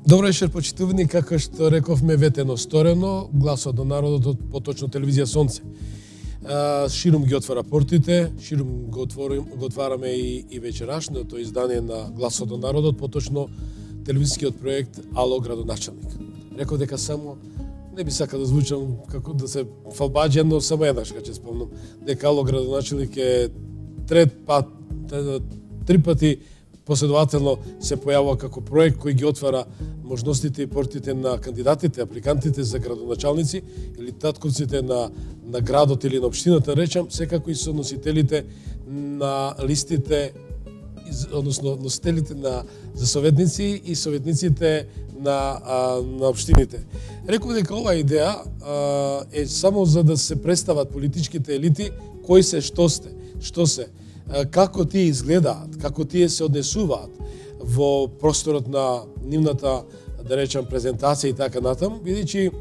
Добро вечер, почитувани, како што рековме ветено сторено, гласот на народот, поточно телевизија Сонце. Ширум ги отвара портите, ширум го отвараме и вечерашното издание на Гласот на народот, поточно телевизискиот проект Ало градоначалник. Реков дека само не би сакал да звучам како да се фалбаџен, но само еднаш ќе спомнам дека Ало градоначалник е три пати последователно се појавува како проект кој ги отвара можностите и портите на кандидатите, апликантите за градоначалници или татковците на градот или на општината, речам, секако и со носителите на листите, односно носителите за советници и советниците на општините. Реков дека оваа идеја е само за да се представат политичките елити кои се, што се, како тие изгледаат, како тие се однесуваат во просторот на нивната, да речам, презентација и така натаму, бидејќи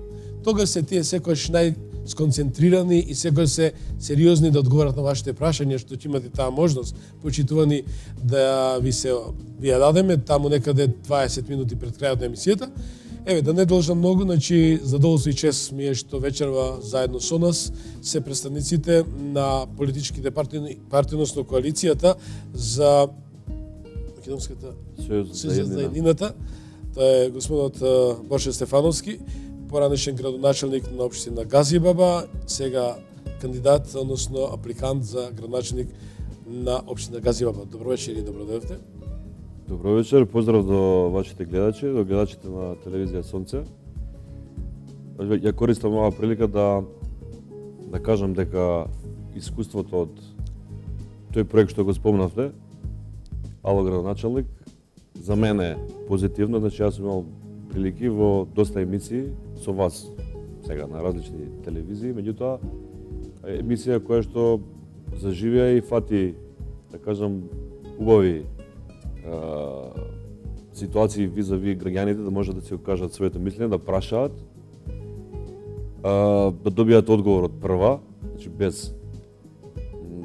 тогаш се тие секојаш најсконцентрирани и секојаш се сериозни да одговорат на вашите прашања, што ќе имате таа можност, почитувани, да ви ја дадеме таму некаде 20 минути пред крајот на емисијата. Еве, да не должам многу, значи, задоволство и чест ми е што вечерва заедно со нас се представниците на политичките партии, односно коалицијата за Македонската Сојуз за еднината. Тоа е господинот Борше Стефановски, поранешен градоначалник на општина Газибаба, сега кандидат, односно апликант за градоначалник на општина Газибаба. Добро вечер и добро дојдовте. Добро вечер, поздрав до вашите гледачи, до гледачите на телевизија Сонце. Ја користам оваа прилика да кажам дека искуството од тој проект што го спомнавте, Ало градоначалник, за мене позитивно, значи јас сум имал прилики во доста емисии со вас сега на различни телевизии, меѓутоа емисија која што заживеа и фати, да кажам, убави ситуации визави граѓаните да можат да се окажат своето мислење, да прашаат, да добијат одговор од прва, значи без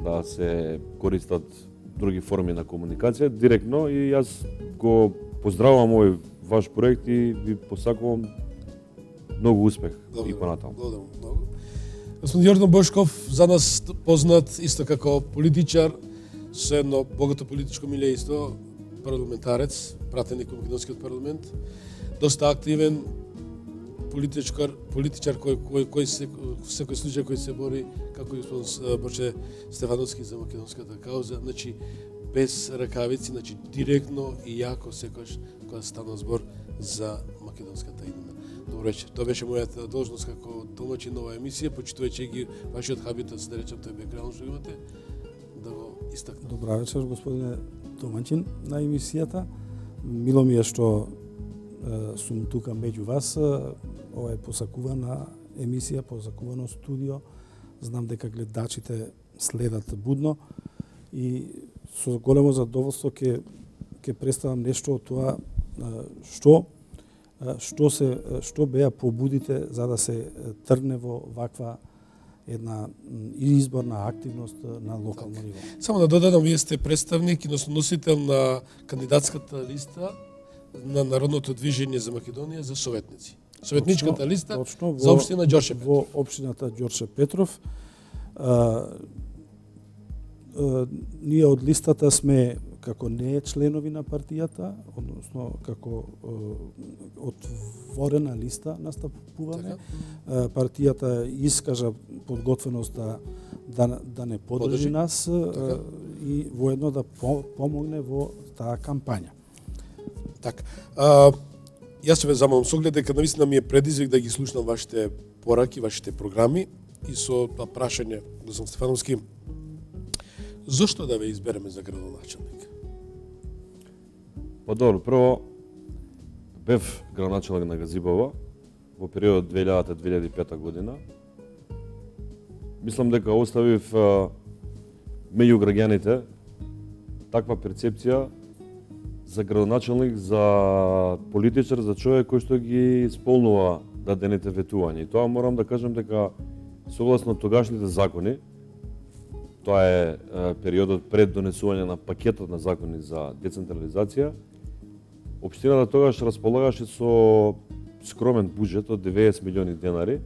да се користат други форми на комуникација, директно, и јас го поздравувам овој ваш проект и ви посакувам многу успех и понатаму. Благодарам многу. Господин Јордан Бошков, за нас познат исто како политичар, со едно богато политичко милејство, парламентарец, пратеник во Македонскиот парламент, доста активен политичар кој секој случај кој се бори, како господин Борче Стефановски, за македонската кауза, значи без ракавици, значи директно и јако секојаш кога стана збор за македонската иднина. Добро вечер. Тоа беше мојата должност како домаќин на оваа емисија, почитувајќи ги вашиот хабитат, да речем, тој бекграунд што имате, да го истакнам. Добра вечер, господине домаќин на емисијата. Мило ми е што сум тука меѓу вас. Ова е посакувана емисија, посакувано студио. Знам дека гледачите следат будно и со големо задоволство ќе представам нешто од тоа што беа побудите за да се тргне во ваква една изборна активност на локално ниво. Само да додадам, вие сте представник и носител на кандидатската листа на Народното движење за Македонија за советници. Советничката листа за општина Ѓорче Петров. Во општината Ѓорче Петров. Ние од листата сме како не членови на партијата, односно како отворена листа настапуваме. Партијата искажа подготвеност да не подржи нас и воедно да помогне во таа кампања. Така. Јас се ве замолам со оглед дека навистина ми е предизвик да ги слушнам вашите пораки, вашите програми и со прашање, господин Стефановски, зошто да ве избереме за градоначалник? Па добро, прво бев градоначалник на Газибаба во периодот 2000-2005 година. Мислам дека оставив меѓу граѓаните таква перцепција за градоначалник, за политичар, за човек кој што ги исполнува дадените ветувања. И тоа морам да кажам дека согласно тогашните закони, Тоа е периодот пред донесување на пакетот на закони за децентрализација. Општината тогаш располагаше со скромен буџет од 90 милиони денари,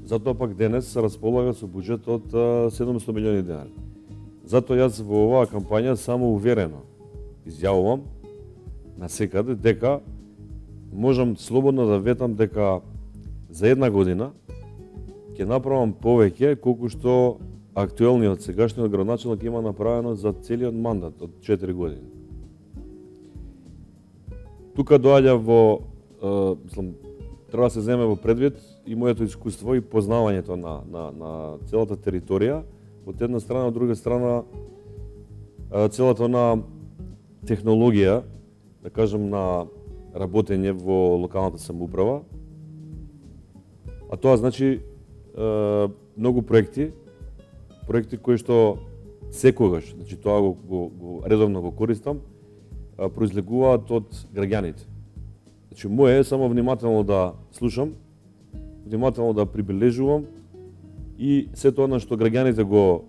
затоа пак денес се располага со буџет од 700 милиони денари. Затоа јас во оваа кампања само уверено изјавувам на секаде дека можам слободно да ветам дека за една година ќе направам повеќе колку што актуелниот сегашниот градоначелник има направено за целиот мандат од 4 години. Тука доаѓа во, треба да се земе во предвид и моето искуство и познавањето на целата територија, од една страна, од друга страна целата на технологија, да кажем, на работење во локалната самоуправа, а тоа значи многу проекти кои што секогаш, значи тоа го редовно го користам, произлегуваат од граѓаните. Значи моje е само внимателно да слушам, внимателно да прибележувам и се тоа на што граѓаните го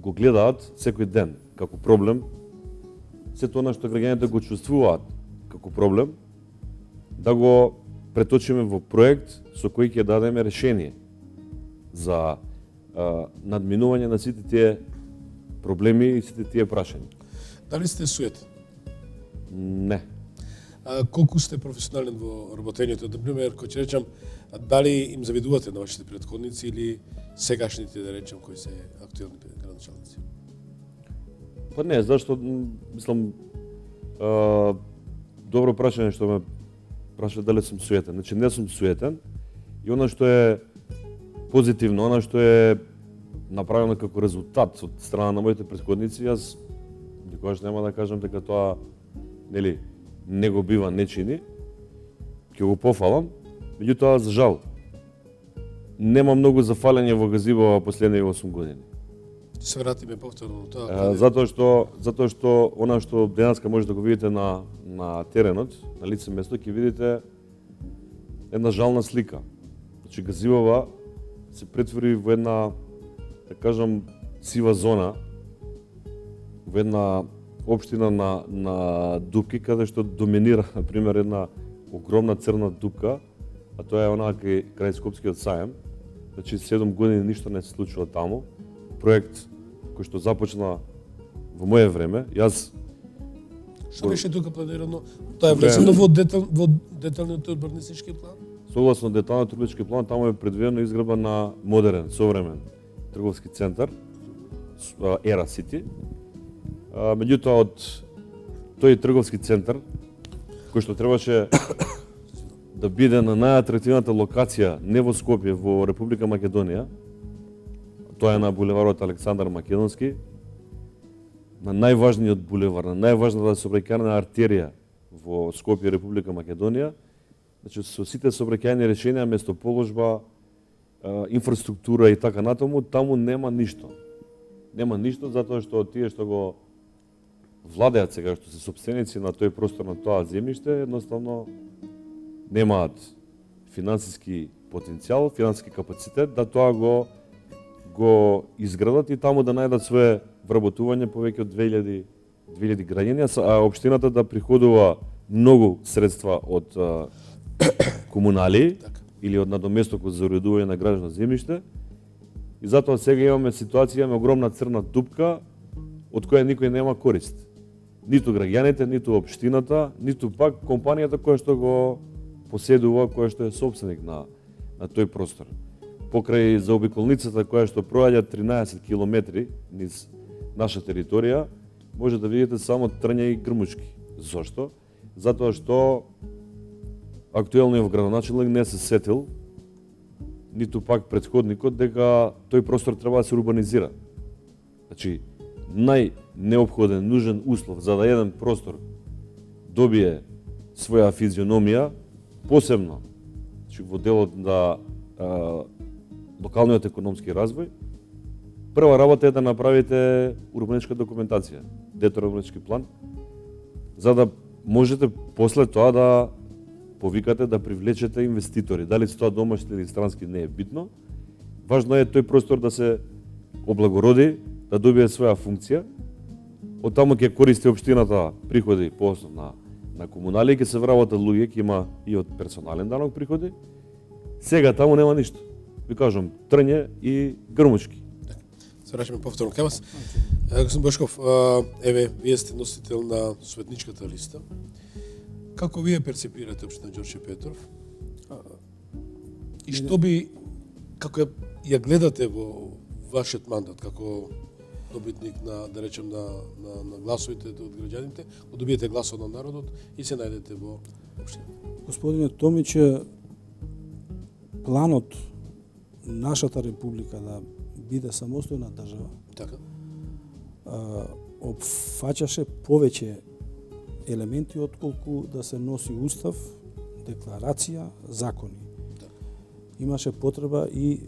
гледаат секој ден како проблем, се тоа на што граѓаните го чувствуваат како проблем, да го преточиме во проект со кој ќе дадеме решение за надминување на сите тие проблеми и сите тие прашања. Дали сте суетен? Не. Колку сте професионален во работењето? Например, кој ќе речам, дали им завидувате на вашите претходници или сегашните, да речам, кои се актуелни градоначалници? Па не, зашто, мислам, добро прашање што ме праша дали сум суетен. Значи, не сум суетен и она што е позитивно, она што е направено како резултат од страна на моите претходници, јас никогаш нема да кажам дека тоа, нели, не го бива, не чини, ќе го пофалам, меѓутоа, за жал, нема многу зафалење во газибо во последните 8 години. Ќе се вратиме повторно тоа. Затоа што она што денеска може да го видите на теренот, на лице место, ќе видите една жална слика. Значи газибова се претвори во една, да кажам, сива зона, во една општина на дупки, каде што доминира, например, една огромна црна дупка, а тоа е онаа крај Скопскиот сајм. Значи 7 години ништо не се случува таму. Проект кој што започна во моје време, јас... Што беше тука планирано? Тоа е влезено во деталниот урбанистички план? Согласно деталниот урбанистички план, таму е предвидено изградба на модерен, современ трговски центар, Era City. Меѓутоа, од тој трговски центар, кој што требаше да биде на најатрактивната локација, не во Скопје, во Република Македонија, тоа е на булеварот Александар Македонски, на најважниот булевар, на најважната сообраќајна артерија во Скопје, Република Македонија, значи со сите сообраќајни решенија, местоположба, инфраструктура и така натаму, таму нема ништо. Нема ништо затоа што тие што го владеат сега, што се сопственици на тој простор, на тоа земјиште, едноставно немаат финансиски потенцијал, финансиски капацитет да тоа го изградат и таму да најдат свое вработување повеќе од 2000 граѓани, а општината да приходува многу средства од комунали или од надоместокот за уредување на градено земјиште. И затоа сега имаме ситуација, имаме огромна црна дупка од која никој нема корист. Ниту граѓаните, ниту општината, ниту пак компанијата која што го поседува, која што е собственик на тој простор. Покрај заобиколницата која што проаѓа 13 километри низ наша територија, може да видите само трња и грмушки. Зошто? Затоа што актуелниот градоначелник не се сетил, ниту пак претходникот, дека тој простор треба да се урбанизира. Значи, најнеопходен, нужен услов за да еден простор добие своја физиономија, посебно во делот на локалниот економски развој, прва работа е да направите урбанистичка документација, детален урбанистички план, за да можете после тоа да повикате, да привлечете инвеститори. Дали се тоа домашни или странски не е битно. Важно е тој простор да се облагороди, да добие своја функција. Од таму ќе користи општината приходи по основ на комунали, ќе се вработат луѓе, ќе има и од персонален данок приходи. Сега таму нема ништо. Ви кажам, трње и грмучки. Се враќаме повторно кај вас. Господин Бошков, еве, вие сте носител на светничката листа. Како вие перцепирате општина Ѓорче Петров? И што би, како ја гледате во вашиот мандат, како добитник на, да речем, на гласовите од граѓаните, добиете гласот на народот и се најдете во општината? Господине Томич, планот нашата република да биде самостојна држава, Така. опфаќаше повеќе елементи отколку да се носи устав, декларација, закони. Имаше потреба и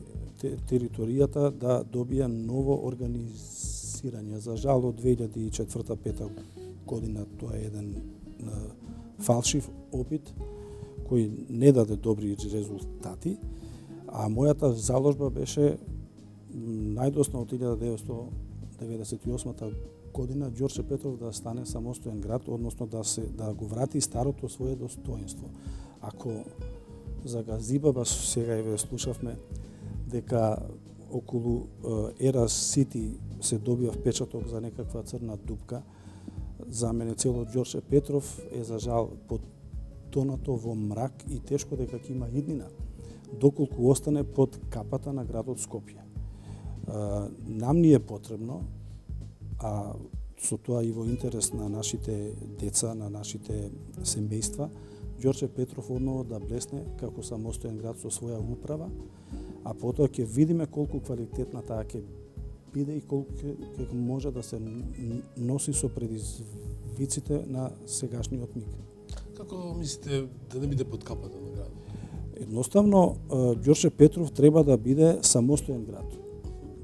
територијата да добија ново организирање. За жал од 2004-2005 година тоа е еден фалшив опит кој не даде добри резултати, а мојата заложба беше најдосна од 1998 година Ѓорче Петров да стане самостоен град, односно да го врати старото свое достоинство. Ако за Газибаба сега ве слушавме дека околу Ера Сити се добива впечаток за некаква црна дупка, за мене цело Ѓорче Петров е за жал потонато во мрак и тешко дека ќе има иднина, доколку остане под капата на градот Скопје. Нам ни е потребно, а со тоа и во интерес на нашите деца, на нашите семејства, Ѓорче Петров одново да блесне како самостоен град со своја управа, а потоа ќе видиме колку квалитетна таа ќе биде и колку ќе може да се носи со предизвиците на сегашниот миг. Како мислите да не биде под капата на градот? Едноставно, Ѓорче Петров треба да биде самостоен град,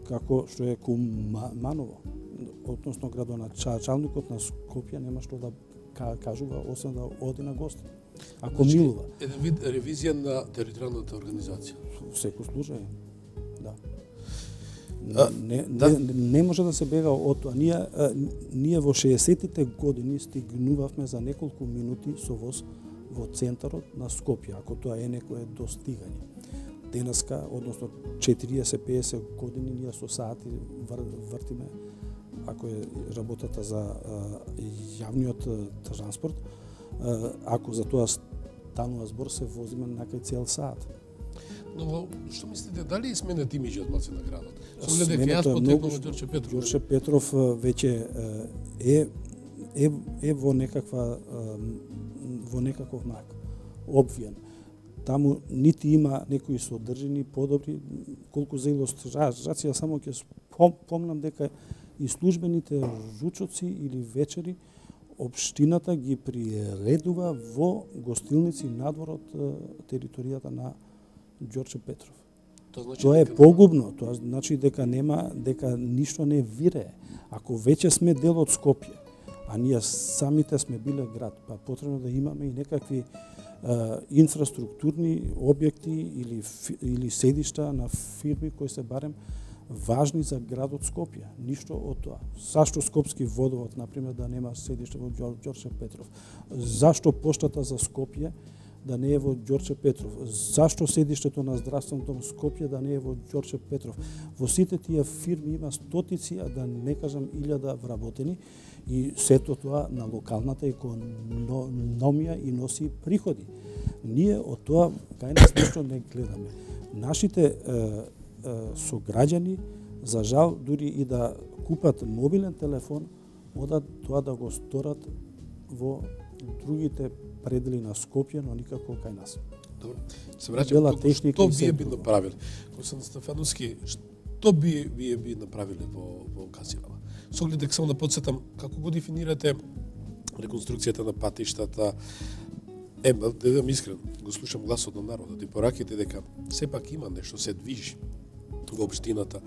како што е Куманово, односно градоначалникот на Скопје нема што да кажува, освен да оди на гости. Ако милува. Еден вид ревизија на територијалната организација. Секој случај, да. Не може да се бега од тоа. Ние во 60-тите години стигнувавме за неколку минути со воз во центарот на Скопје, ако тоа е некое достигање. Денеска, односно 40-50 години, ние со сати вртиме, ако е работата за јавниот транспорт, ако за тоа станува збор, се возиме на кај цел саат. Но што мислите, дали сменет имиџот малце на градот? Со гледа дека јас потекнувам од Ѓорче Петров. Ѓорче Петров веќе е во некаков мрак, обвиен. Таму нити има некои содржини подобри, колку за илустрација само ќе спомнам дека и службените ручоци или вечери општината ги приредува во гостилници надвор од територијата на Ѓорче Петров. Тоа е погубно, тоа значи дека ништо не вирее. Ако веќе сме дел од Скопје, а ние самите сме биле град, па потребно да имаме и некакви инфраструктурни објекти или седишта на фирми кои се барем важни за градот Скопје. Ништо од тоа. Зашто Скопски водовод, например, да нема седиште во Ѓорче Петров? Зашто поштата за Скопје да не е во Ѓорче Петров? Зашто седиштето на здравствен дом Скопје да не е во Ѓорче Петров? Во сите тие фирми има стотици, а да не кажам 1000 вработени, и сето тоа на локалната економија и носи приходи. Ние од тоа кај нас ништо не гледаме. Нашите сограѓани, за жал, дури и да купат мобилен телефон, одат тоа да го сторат во другите предели на Скопје, но никако кај нас. Добро. Се враќам, што вие би направиле? Константин Стефановски, што вие би направиле во Газибаба? Со оглед дека само да подсетам, како го дефинирате реконструкцијата на патиштата? Да бидам искрен, го слушам гласот на народот и пораките дека сепак има нешто се движи во општината.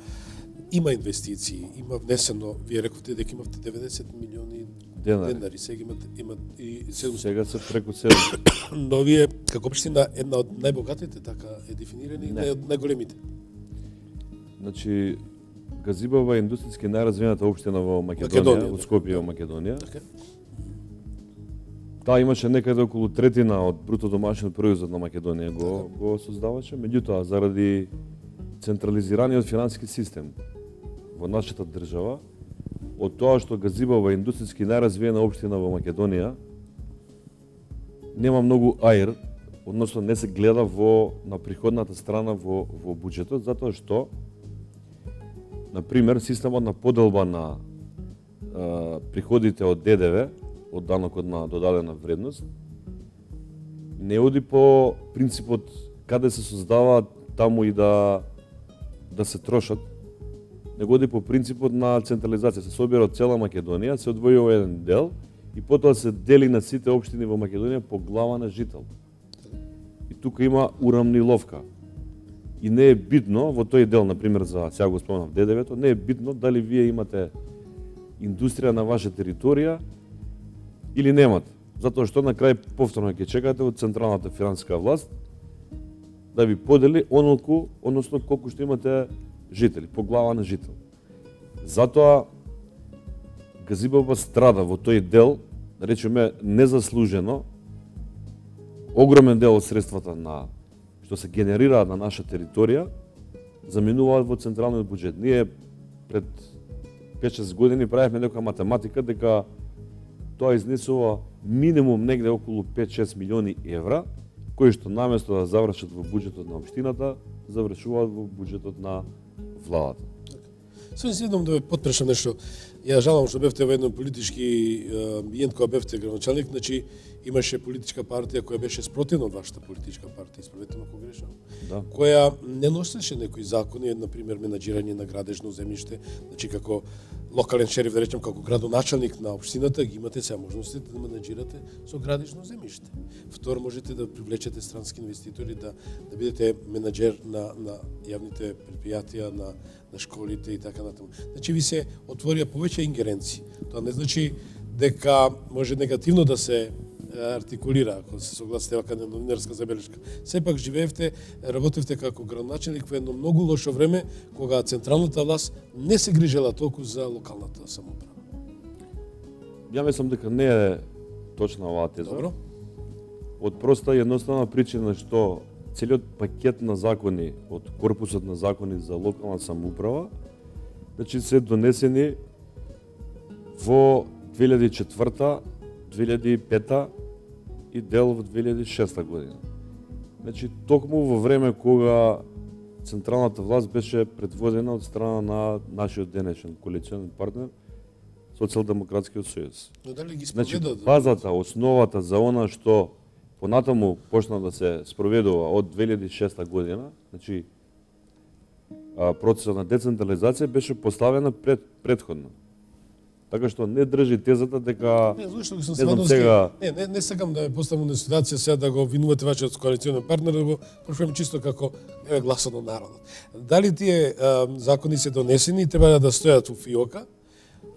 Има инвестиции, има внесено, вие рековте дека имавте 90 милиони денари, сега имат и 700. Сега се преку 700. Но вие, како општина, една од најбогатите, така е дефинирани, и од најголемите. Значи, Газибава е индустријски најразвиената општина во Македонија, во Скопје, во Македонија. Таа имаше некаде околу третина од бруто домашен производ на Македонија го создаваше, меѓутоа заради централизираниот финансиски систем во нашата држава, од тоа што Газибава е индустријски најразвиена општина во Македонија, нема многу аир, односно не се гледа на приходната страна во буџетот, затоа што например системот на поделба на приходите од ДДВ, од данокот на додадена вредност, не оди по принципот каде се создава таму и да се трошат, него оди по принципот на централизација. Се собира од цела Македонија, се одвојува еден дел и потоа се дели на сите општини во Македонија по глава на жител. И тука има урамниловка. И не е битно во тој дел, например, за сега го спомнав ДДВ-то, не е битно дали вие имате индустрија на ваша територија или немате. Затоа што на крај повторно ќе чекате од централната финансиска власт да ви подели онолку, односно колку што имате жители, по глава на жител. Затоа Газибава страда во тој дел, да речеме, незаслужено, огромен дел од средствата што се генерираат на наша територија, заминуваат во централниот буџет. Ние пред 5-6 години правевме некоја математика дека тоа изнесува минимум негде околу 5-6 милиони евра, кои што наместо да завршат во буџетот на општината, завршуваат во буџетот на владата. Само следам да ве потпрешам нешто. Ја жалам што бевте во еден политички амбиент кога бевте градоначалник, значи имаше политичка партија која беше спротивна од вашата политичка партија, исправете ме ако грешам. Да. Која не носеше некои закони, на пример менаџирање на градежно земјиште, значи како локален шериф, да речем, како градоначалник на општината, ги имате сега можностите да менаџирате со градежно земјиште. Второ, можете да привлечете странски инвеститори, да бидете менаџер на јавните предпријатија, на школите и така натаму. Значи ви се отворија повеќе ингеренции. Тоа не значи дека може негативно да се артикулира, ако се согласите вака на новинарска забелешка. Сепак живеевте, работевте како градоначалник во едно многу лошо време, кога централната власт не се грижела толку за локалната самоуправа. Ја мислам дека не е точна оваа теза. Добро. Од проста и едноставна причина што целиот пакет на закони од корпусот на закони за локална самоуправа, значи се донесени во 2004, 2005 и дел во 2006 година. Значи, токму во време кога централната власт беше предводена од страна на нашиот денешен коалиционен партнер, Социјалдемократскиот сојуз. Но дали ги Значи, спроведат? базата, основата за она што понатаму почна да се спроведува од 2006 година, значи процесот на децентрализација беше поставена предходно. Така што не држи тезата дека Не, зашто ги сум знам сведоци. сега Не сакам да ме поставам на ситуација сега да го обвинувате вашиот коалиционен партнер, да го прошувам чисто како гласот на народот. Дали тие закони се донесени и треба да стојат во фиока,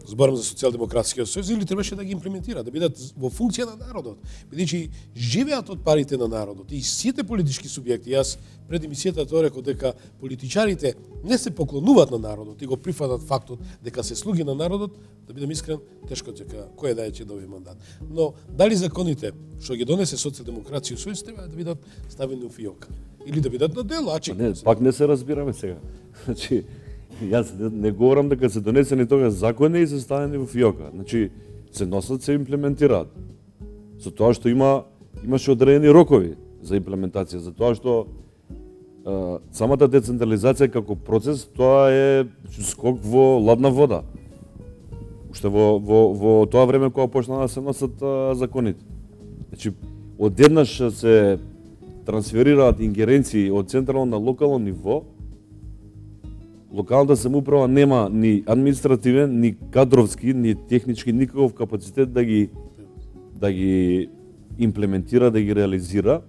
зборам за Социјалдемократскиот сојуз, или требаше да ги имплементира, да бидат во функција на народот, бидејќи живеат од парите на народот и сите политички субјекти. Јас пред емисијата тоа реков дека политичарите не се поклонуваат на народот и го прифатат фактот дека се слуги на народот, да бидам искрен, тешко дека кој да ќе добие мандат. Но дали законите што ги донесе Социјалдемократскиот сојуз треба да бидат ставени во фиока или да бидат на дело, не, пак не се разбираме сега. Значи, јас не говорам дека се донесени тогаш закони и се ставени во фиока. Значи, се носат, се имплементираат. За тоа што имаше одредени рокови за имплементација, за тоа што самата децентрализација како процес, тоа е скок во ладна вода. Уште во тоа време кога почна да се носат законите. Значи, одеднаш се трансферираат ингеренции од централно на локално ниво. Локалната самоуправа нема ни административен, ни кадровски, ни технички никаков капацитет да ги имплементира, да ги реализира,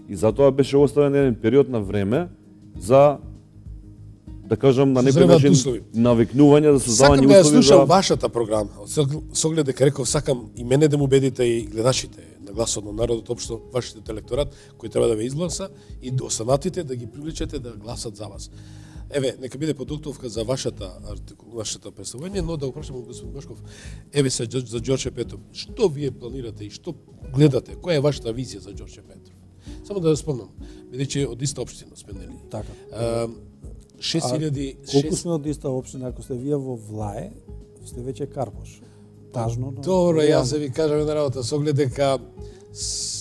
и затоа беше оставен еден период на време за, да кажам, на некој начин навикнување за создавање услови за... Сакам да ја слушам вашата програма, со оглед дека реков, сакам и мене да му убедите и гледачите на гласот на народот, општо вашиот електорат, кој треба да ве изгласа, и останатите да ги привлечете да гласат за вас. Еве, нека биде подуктовка за вашата представување, но да го прашам господин Бошков, еве за Ѓорче Петров, што вие планирате и што гледате, која е вашата визија за Ѓорче Петров? Само да спомнам, бидејќи од иста општина сме, нели? Така. 6000 колку сме од иста општина, ако сте вие во Влае, сте веќе Карпош. Тажно, но добро, јас се ви кажам една работа, со оглед дека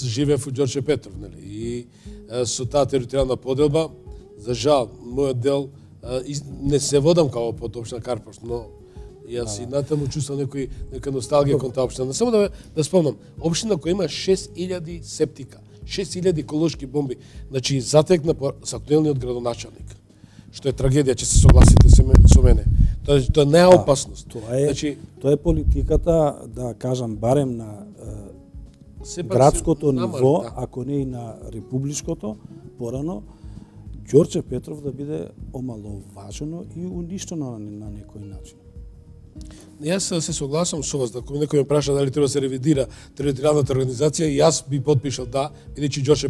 живеев во Ѓорче Петров, нели? И со таа територијална поделба, за жал, мојот дел не се водам као под општина Карпош, но јас и натаму чувствам нека носталгија кон таа општина. Само да спомнам, општина која има 6000 септика, 6000 еколошки бомби, значи затекна со актуелниот градоначалник, што е трагедија, че се согласите со мене. Тоа не е опасност. Тоа е политиката, да кажам, барем на градското ниво, ако не и на републичкото, порано, Ѓорче Петров да биде омаловажено и уништено на некој начин. Јас се согласам со вас, ако некој ме праша дали треба да се ревидира територијалната организација, јас би подпишал да, бидејќи Ѓорче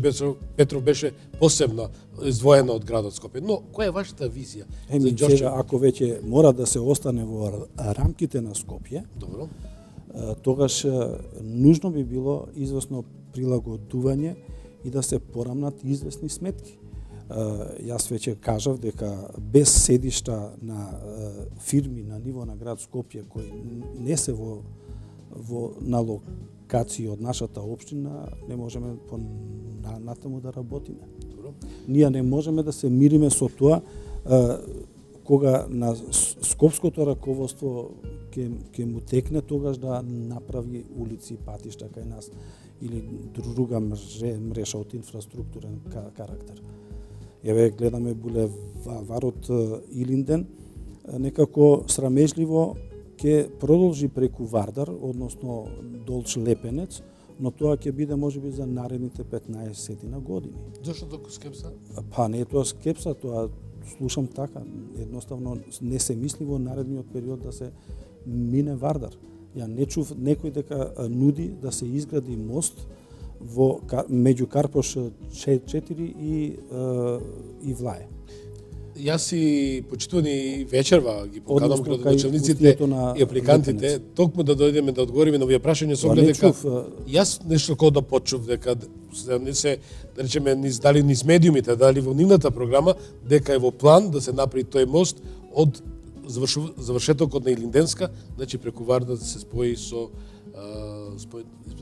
Петров беше посебно издвоена од градот Скопје. Но која е вашата визија за Ѓорче? Сега, ако веќе мора да се остане во рамките на Скопје, добро, тогаш нужно би било известно прилагодување и да се порамнат известни сметки. Јас веќе кажав дека без седишта на фирми на ниво на град Скопје кои не се на локација од нашата општина, не можеме натаму да работиме. добро. Ние не можеме да се мириме со тоа кога на скопското раководство ќе му текне тогаш да направи улици и патишта кај нас или друга мреžа од инфраструктурен карактер. Еве гледаме булеварот Илинден, некако срамежливо ќе продолжи преку Вардар, односно Долч Лепенец, но тоа ќе биде можеби за наредните 15 години. Зошто толку скепса? Па не е тоа скепса, тоа слушам така, едноставно не се мисли во наредниот период да се мине Вардар. Ја не чув некој дека нуди да се изгради мост меѓу Карпош 4 и Влае. Јас и почитувани вечерва ги поканам градоначалниците и апликантите, токму да дојдеме да одговориме на овие прашања со оглед дека јас нешто кога да почув дека не се, да речеме, дали низ медиумите, дали во нивната програма, дека е во план да се направи тој мост од завршетокот на Илинденска, значи преку Вардар да се спои со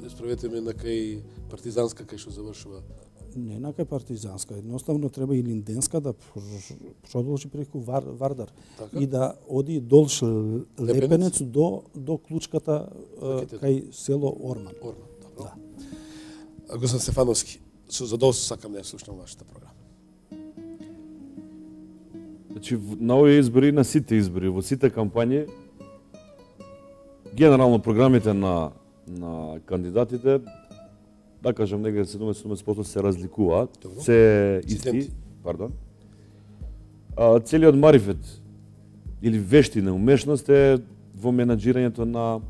справете ме на кај Партизанска, кај што завршува. Не на кај Партизанска, едноставно треба Илинденска да продолжи преку Вардар така? И да оди Долш Лепенец до клучката кај село Орман. Орман, добро. Да. Господин Стефановски, со задоволство сакам да ја слушнам вашата програма. Значи, на овие избори, на сите избори, во сите кампањи, генерално програмите на кандидатите, да кажем, негде 70% се разликуваат, се исти, пардон. Целиот марифет или вештина, умешност е во менаџирањето на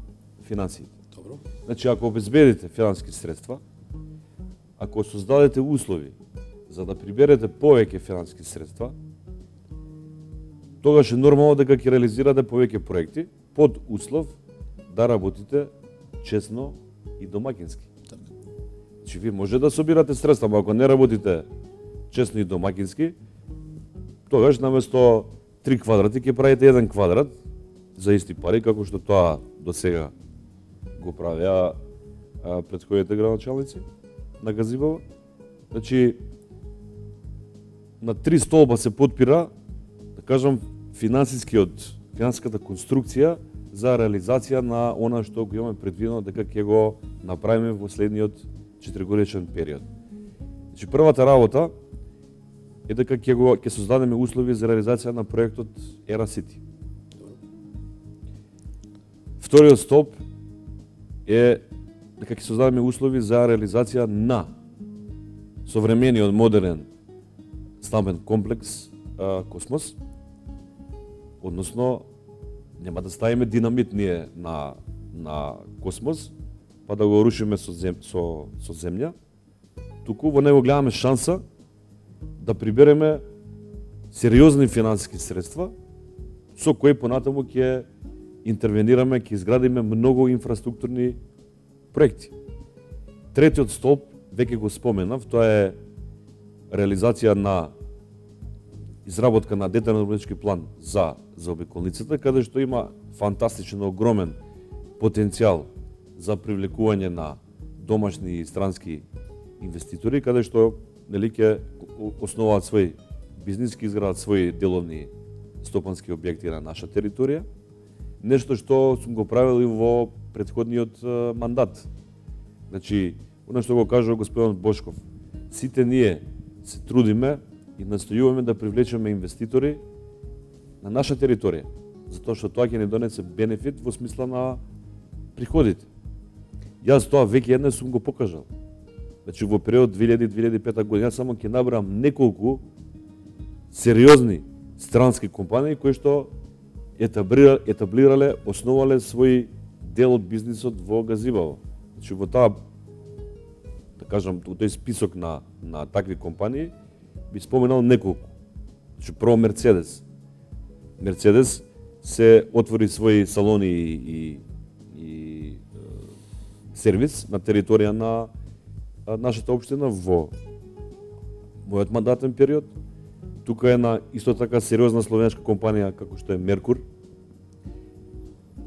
финансиите. Добро. Значи, ако обезбедите финансиски средства, ако создадете услови за да приберете повеќе финансиски средства, тогаш е нормално дека ќе реализирате повеќе проекти под услов да работите честно и домакински. Така. Значи, вие може да собирате средства, но ако не работите честно и домакински, тогаш наместо 3 квадрати ќе правите 1 квадрат за исти пари, како што тоа до сега го правеа претходните градоначалници на Газибово. Значи, на 3 столба се подпира, да кажам, финансиската конструкција за реализација на она што го имаме предвидено дека ќе го направиме во следниот 4-годишен период. Значи, првата работа е дека ќе создадеме услови за реализација на проектот Era City. Вториот столб е дека ќе создадеме услови за реализација на современиот модерен стамбен комплекс Космос, односно нема да ставиме динамит ние на Космос, па да го рушиме со земја, туку во него гледаме шанса да прибереме сериозни финансиски средства со кои понатаму ќе интервенираме, ќе изградиме многу инфраструктурни проекти. Третиот столб веќе го споменав, тоа е реализација на изработка на детален урбанистички план за заобиколницата, каде што има фантастичен, огромен потенцијал за привлекување на домашни и странски инвеститори, каде што нели ќе основаат свој бизнис, ќе изградат своји деловни стопански објекти на наша територија. Нешто што сум го правил и во претходниот мандат. Значи, оно што го кажува господин Бошков, сите ние се трудиме и настојуваме да привлечеме инвеститори на наша територија, затоа што тоа ќе ни донесе бенефит во смисла на приходите. Јас тоа веќе еднаш сум го покажал. Значи, во период 2000-2005 година, јас само ќе набрам неколку сериозни странски компании кои што етаблирале, основале свој дел од бизнисот во Газибаво. Значи, во таа, да кажам, тој список на такви компании, би споменал неколку. Значи, прво Мерцедес. Мерцедес се отвори своји салони и сервис на територија на нашата општина во мојот мандатен период. Тука е на исто така сериозна словенска компанија како што е Меркур.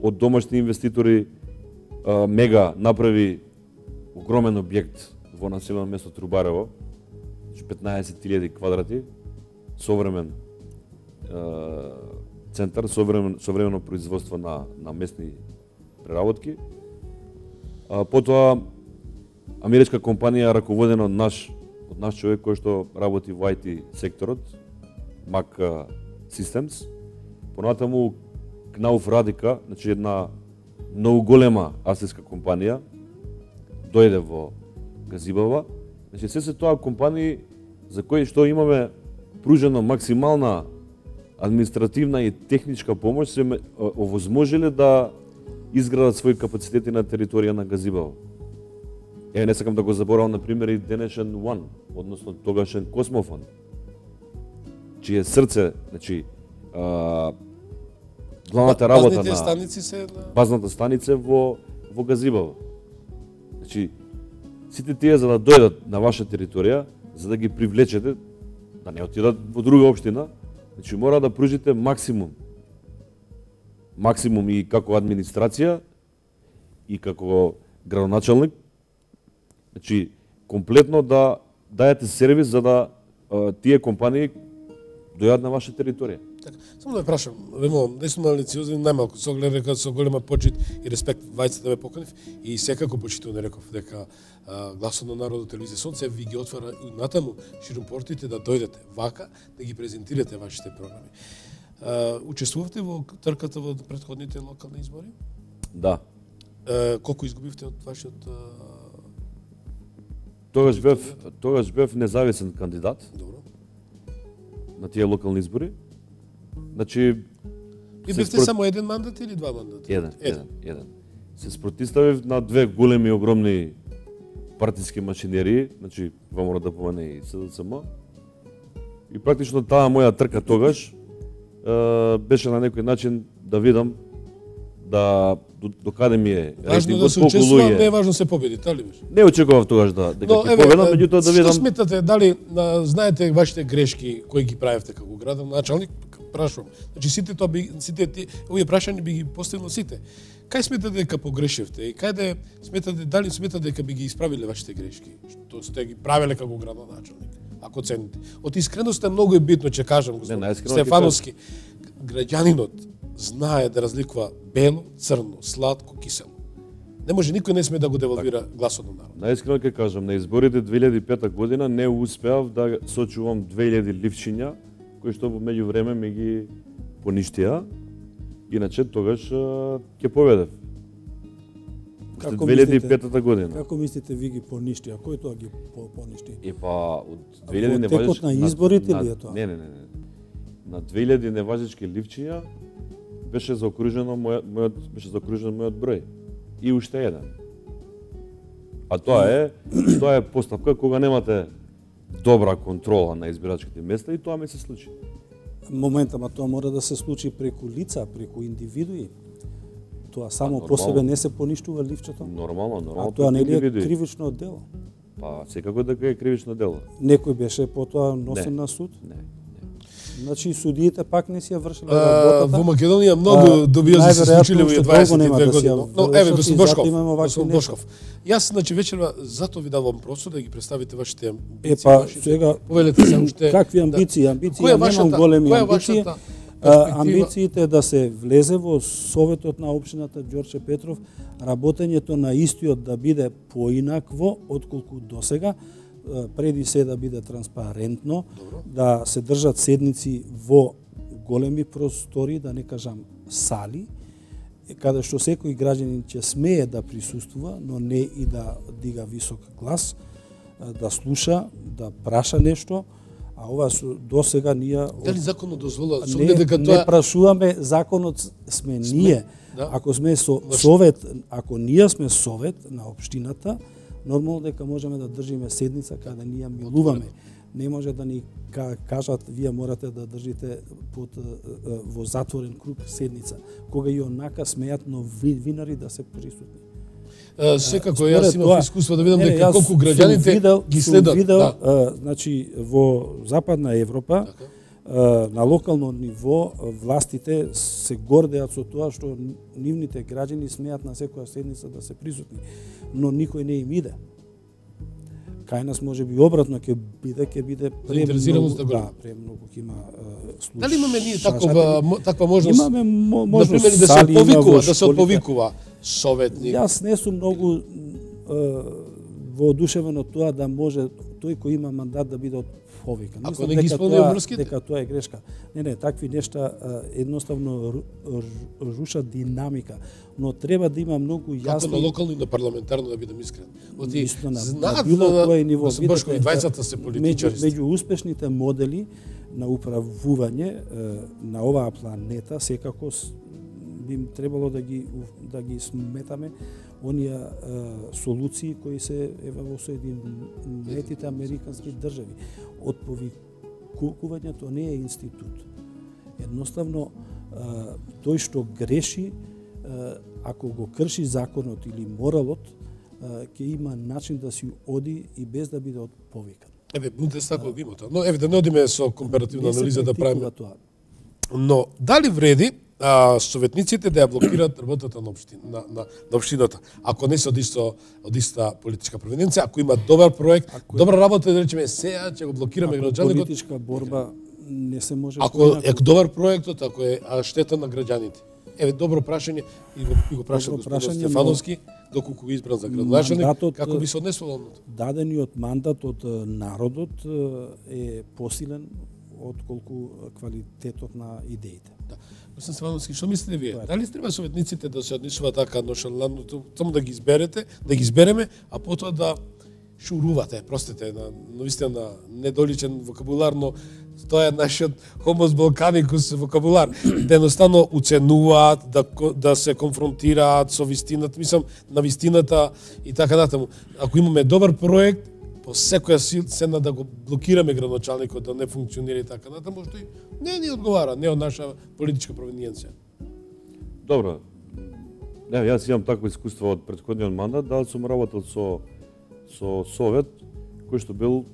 Од домашни инвеститори Мега направи огромен објект во населено место Трубарево, 15.000 квадрати, современ центар, современо производство на местни преработки. Потоа америчка компанија раководена од наш човек кој што работи во IT секторот, Mac Systems. Понатаму Кнауф Радика, значи една многу голема австријска компанија, дојде во Газибава. Значи се тоа компании за кои што имаме пружено максимална административна и техничка помош, се овозможиле да изградат своји капацитети на територија на Газибава. Не сакам да го заборавам, например, и денешен One, односно тогашен Космофон, чие срце, значи, главната работа на базната станица во Газибава. Значи, сите тие за да дојдат на ваша територија, за да ги привлечете, да не отидат во друга општина, значи мора да пружите максимум. Максимум и како администрација, и како градоначалник, значи комплетно да дајете сервис за да тие компании дојдат на ваша територија. Така, само да ве прашам, наистина лициозен, најмалку со гледа со голема почит и респект вајцата ве поканив и секако почитувам реков дека Гласот на народот телевизија Сонце ви ги отвара и натаму ширум портите да дојдете вака да ги презентирате вашите програми. Учествувавте во трката во претходните локални избори? Да. Колку изгубивте од вашиот Тогаш бев независен кандидат. Добро. На тие локални избори. Значи ви бевте само еден мандат или два мандата? Еден. Се спротивставив на две големи огромни партиски машинерии, значи мора да помане и СДСМ. И практично таа моја трка тогаш беше на некој начин да видам до каде ми е важно да се учествува, не е важно се победи, тали беше? Не очекував тогаш дека ќе победам, меѓутоа да видам. Што сметате, дали знаете вашите грешки кои ги правевте како градоначалник? Прашувам. Значи сите овие прашања би ги поставил сите. Кај сметате дека погрешевте и каде сметате, дали сметате дека би ги исправиле вашите грешки, што сте ги правеле како градоначалник? Ако цените. Од искреност е многу битно, че кажам, господин Стефановски, граѓанинот знае да разликува бело, црно, сладко, кисело. Не може, никој не сме да го девалвира гласот на народ. Наискрено ќе кажам, на изборите 2005 година не успеав да сочувам 2000 ливчиња, кои што во меѓувреме ми ги поништија. Иначе тогаш ќе победев. Како 2005 година. Како мислите ви ги поништи? А кој тоа ги поништи? Од 2000 неважечки... Текот на изборите ли е тоа? Не. На 2000 неважечки ливчиња беше заокружено мојот број. И уште еден. А тоа е постапка кога немате добра контрола на избирачките места и тоа ми се случи. моментама тоа мора да се случи преку лица, преку индивидуи. Тоа само по нормално. себе не се поништува ливчето. Нормално. А тоа нели е индивидуи. кривично дело. Па секако дека е кривично дело. Некој беше потоа носен на суд. Не. Значи судиите пак не си ја вршиле работата. Во Македонија многу добија се случиле во 22 години. Но еве господин Бошков. Јас значи вечерва затоа ви давам простор да ги представите вашите амбиции. Па сега повелете се уште какви амбиции? Амбиции немам големи амбиции. Амбициите да се влезе во Советот на општината Ѓорче Петров, работењето на истиот да биде поинакво отколку досега, преди се да биде транспарентно, да се држат седници во големи простори, да не кажам сали, каде што секој граѓанин ќе смее да присуствува, но не и да дига висок глас, да слуша, да праша нешто, а ова досега ние дали законот дозволува не прашуваме, законот сме ние. Да. Ако сме совет, ако ние сме совет на општината, нормално дека можеме да држиме седница каде ние милуваме. Не може да ни кажат вие морате да држите во затворен круг седница, кога и онака смеат новинари да се присутни. Секако јас имам искуство да видам дека колку граѓаните ги следат. Значи во Западна Европа, на локално ниво властите се гордеат со тоа што нивните граѓани смеат на секоја седница да се присутни, но никој не им иде. Кај нас може би обратно ќе биде заинтересираност премногу ќе има слушатели. Дали имаме ние таква можност? Имаме можност например да се отповикува советник. Јас не сум многу воодушевен од тоа да може тој кој има мандат да биде отповикан. Ако не ги исполнува врските? Дека тоа е грешка. Не, такви нешта едноставно рушат динамика, но треба да има многу јасно. Како на локално и на парламентарно да бидам искрен. На било кој ниво, Бошко и двајцата се политичари. Меѓу успешните модели на управување на оваа планета секако би требало да ги сметаме оние солуции кои се во Соединетите американски држави. Отповикувањето не е институт. Едноставно тој што греши, ако го крши законот или моралот, ќе има начин да си оди и без да биде отповикан. Еве, Бундестагот има тоа. Но еве да не одиме со компаративна анализа да правиме тоа. Но дали вреди советниците да ја блокираат работата на општината, ако не се од иста политичка провиненција, ако има добар проект, добра работа, да речеме сега ќе го блокираме граѓаните. Политичка борба не се може. Ако е добар проектот, ако е штета на граѓаните. Еве добро прашање и го праша господин Стефановски, доколку го избран за градоначалник, како би се однесувал? Дадениот мандат од народот е посилен отколку квалитетот на идеите. Да. Господин Стефановски, што мислите вие? Дали треба советниците да се однесуваат така ношалантно, само да ги изберете, да ги избереме, а потоа да шурувате, простете, на вистина недоличен вокабулар, но тоа е нашиот хомос балканикус вокабулар, да едноставно уценуваат, да се конфронтираат со вистината, мислам на вистината и така натаму. Ако имаме добар проект, по секоја цена да го блокираме градоначалникот да не функционира и така натаму, што и не ни одговара, не од наша политичка провиненција. Добро. Не, јас имам такво искуство од претходниот мандат, да сум работел со совет кој што бил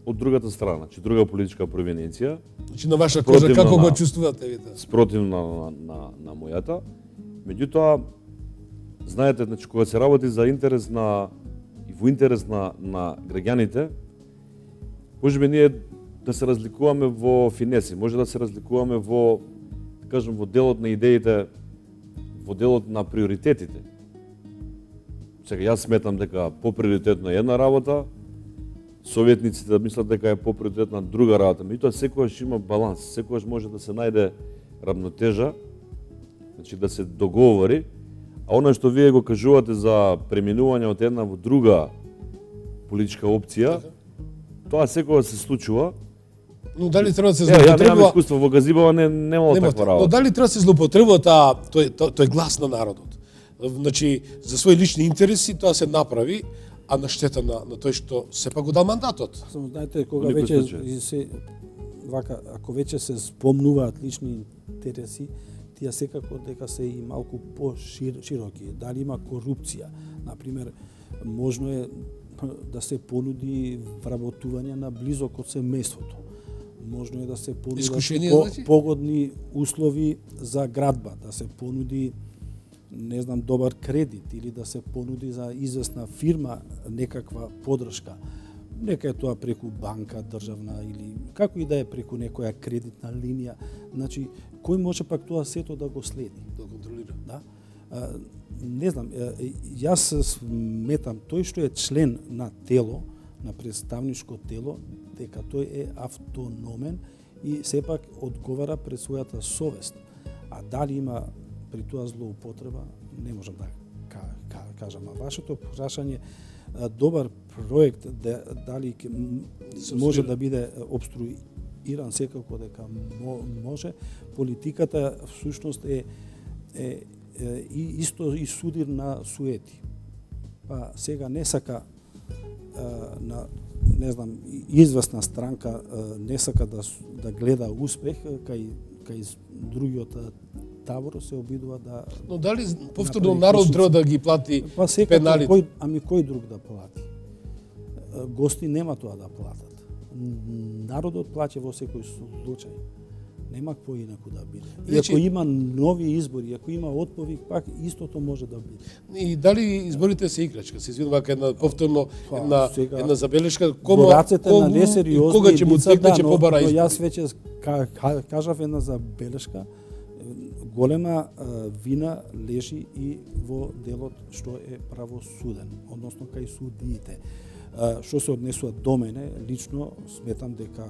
од другата страна, значи друга политичка провиненција. Значи на ваша кожа како го чувствувате вие? Спротивна на мојата. Меѓутоа, знаете, значи кога се работи за интерес во интерес на граѓаните, можеби ние да се разликуваме во финеси, може да се разликуваме во, да кажем, во делот на идеите, во делот на приоритетите. Сега, јас сметам дека поприоритетно е една работа, советниците да мислат дека е поприоритетна друга работа. Меѓутоа, секогаш има баланс, секогаш може да се најде равнотежа, значи да се договори. А оно што вие го кажувате за преминување од една во друга политичка опција, тоа секогаш се случува. Но дали треба да се злоупотребува? Ја немам искуство во Газибова, немало таква работа. Но дали треба да се злоупотребува тој глас на народот? Значи, за своји лични интереси тоа се направи, а на штета на тој што сепак го дал мандатот. Знаете, кога веќе се вака, ако веќе се спомнуваат лични интереси, тие секако дека се и малку по-широки. Дали има корупција, например, можно е да се понуди вработување на близок од семејството. Можно е да се понудат погодни услови за градба, да се понуди не знам добар кредит или да се понуди за известна фирма некаква поддршка. Нека е тоа преку банка државна или како и да е преку некоја кредитна линија. Значи, кој може пак тоа сето да го следи, да го контролира? Да? Не знам, јас сметам тој што е член на тело, на представничко тело, дека тој е автономен и сепак одговара пред својата совест. А дали има при тоа злоупотреба, не можам да кажам. А вашето прашање, добар проект, дали може да биде обструиран, секако дека може. Политиката всушност е исто и судир на суети. Па сега не сака на не знам известна странка не сака да гледа успех кај другиот табор се обидува да. Но дали повторно народ треба да ги плати пеналите? Кој друг да плати? Гости нема тоа да платат. Народот плаќа во секој случај. Нема поинаку да биде. И ако има нови избори, ако има отповик, пак истото може да биде. И дали изборите се играчка? Се извинувам, една повторно една забелешка, кога на несериозни кога ќе му текне побара избори. Но јас веќе кажав една забелешка. Голема вина лежи и во делот што е правосуден, односно кај судиите. Што се однесува до мене, лично сметам дека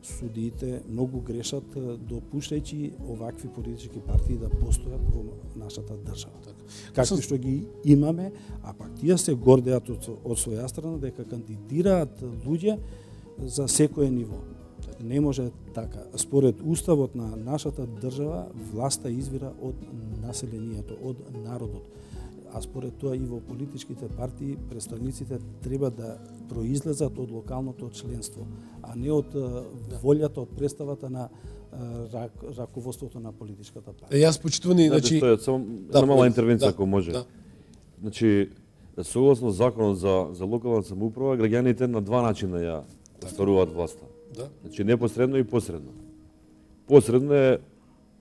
судиите многу грешат допуштајќи овакви политички партии да постојат во нашата држава. Какви што ги имаме, а пак тие се гордеат од своја страна дека кандидираат луѓе за секое ниво. Не може така. Според уставот на нашата држава, власта извира од населението, од народот. А според тоа и во политичките партии представниците треба да произлезат од локалното членство, а не од волјата, од представата на раководството на политичката партија. Јас почитувани, значи, само мала интервенција ако може. Значи, согласно законот за локална самоуправа, граѓаните на два начина ја остваруваат власта. Значи непосредно и посредно. Посредно е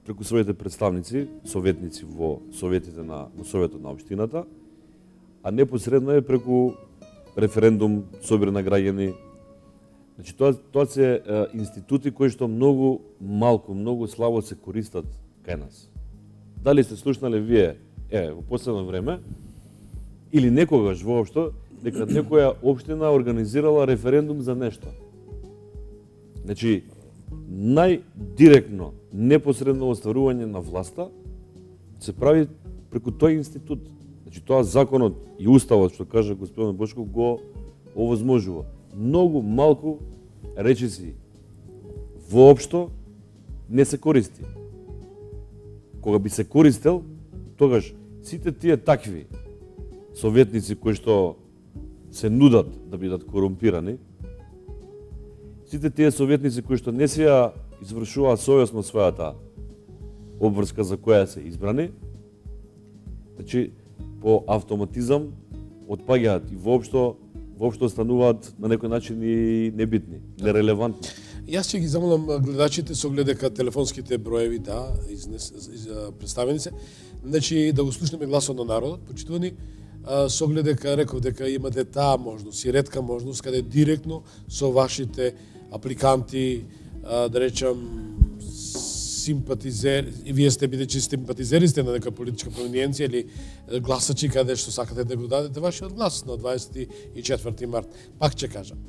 преку своите представници, советници во советите во советот на општината, а непосредно е преку референдум, собир на граѓани. Значи тоа се институти кои што многу малку, многу слабо се користат кај нас. Дали сте слушнале вие во последно време или некогаш воопшто дека некоја општина организирала референдум за нешто? Значи, најдиректно, непосредно остварување на власта се прави преку тој институт. Значи, тоа законот и уставот, што кажа господин Бошков, го овозможува. Многу малку речиси воопшто не се користи. Кога би се користел, тогаш сите тие такви советници кои што се нудат да бидат корумпирани, сите тие советници кои што не се ја извршуваат совесно својата обврска за која се избрани, значи по автоматизам отпаѓаат и воопшто стануваат на некој начин и небитни, нерелевантни. Јас ќе ги замолам гледачите со оглед дека телефонските броеви представени се, значи да го слушнеме гласот на народот, почитувани, со оглед дека реков дека имате таа можност и ретка можност каде директно со вашите апликанти, да речам, симпатизери, и вие сте бидејќи симпатизери сте на нека политичка провиненција или гласачи каде што сакате да го дадете вашиот глас на 24 март. Пак ќе кажам.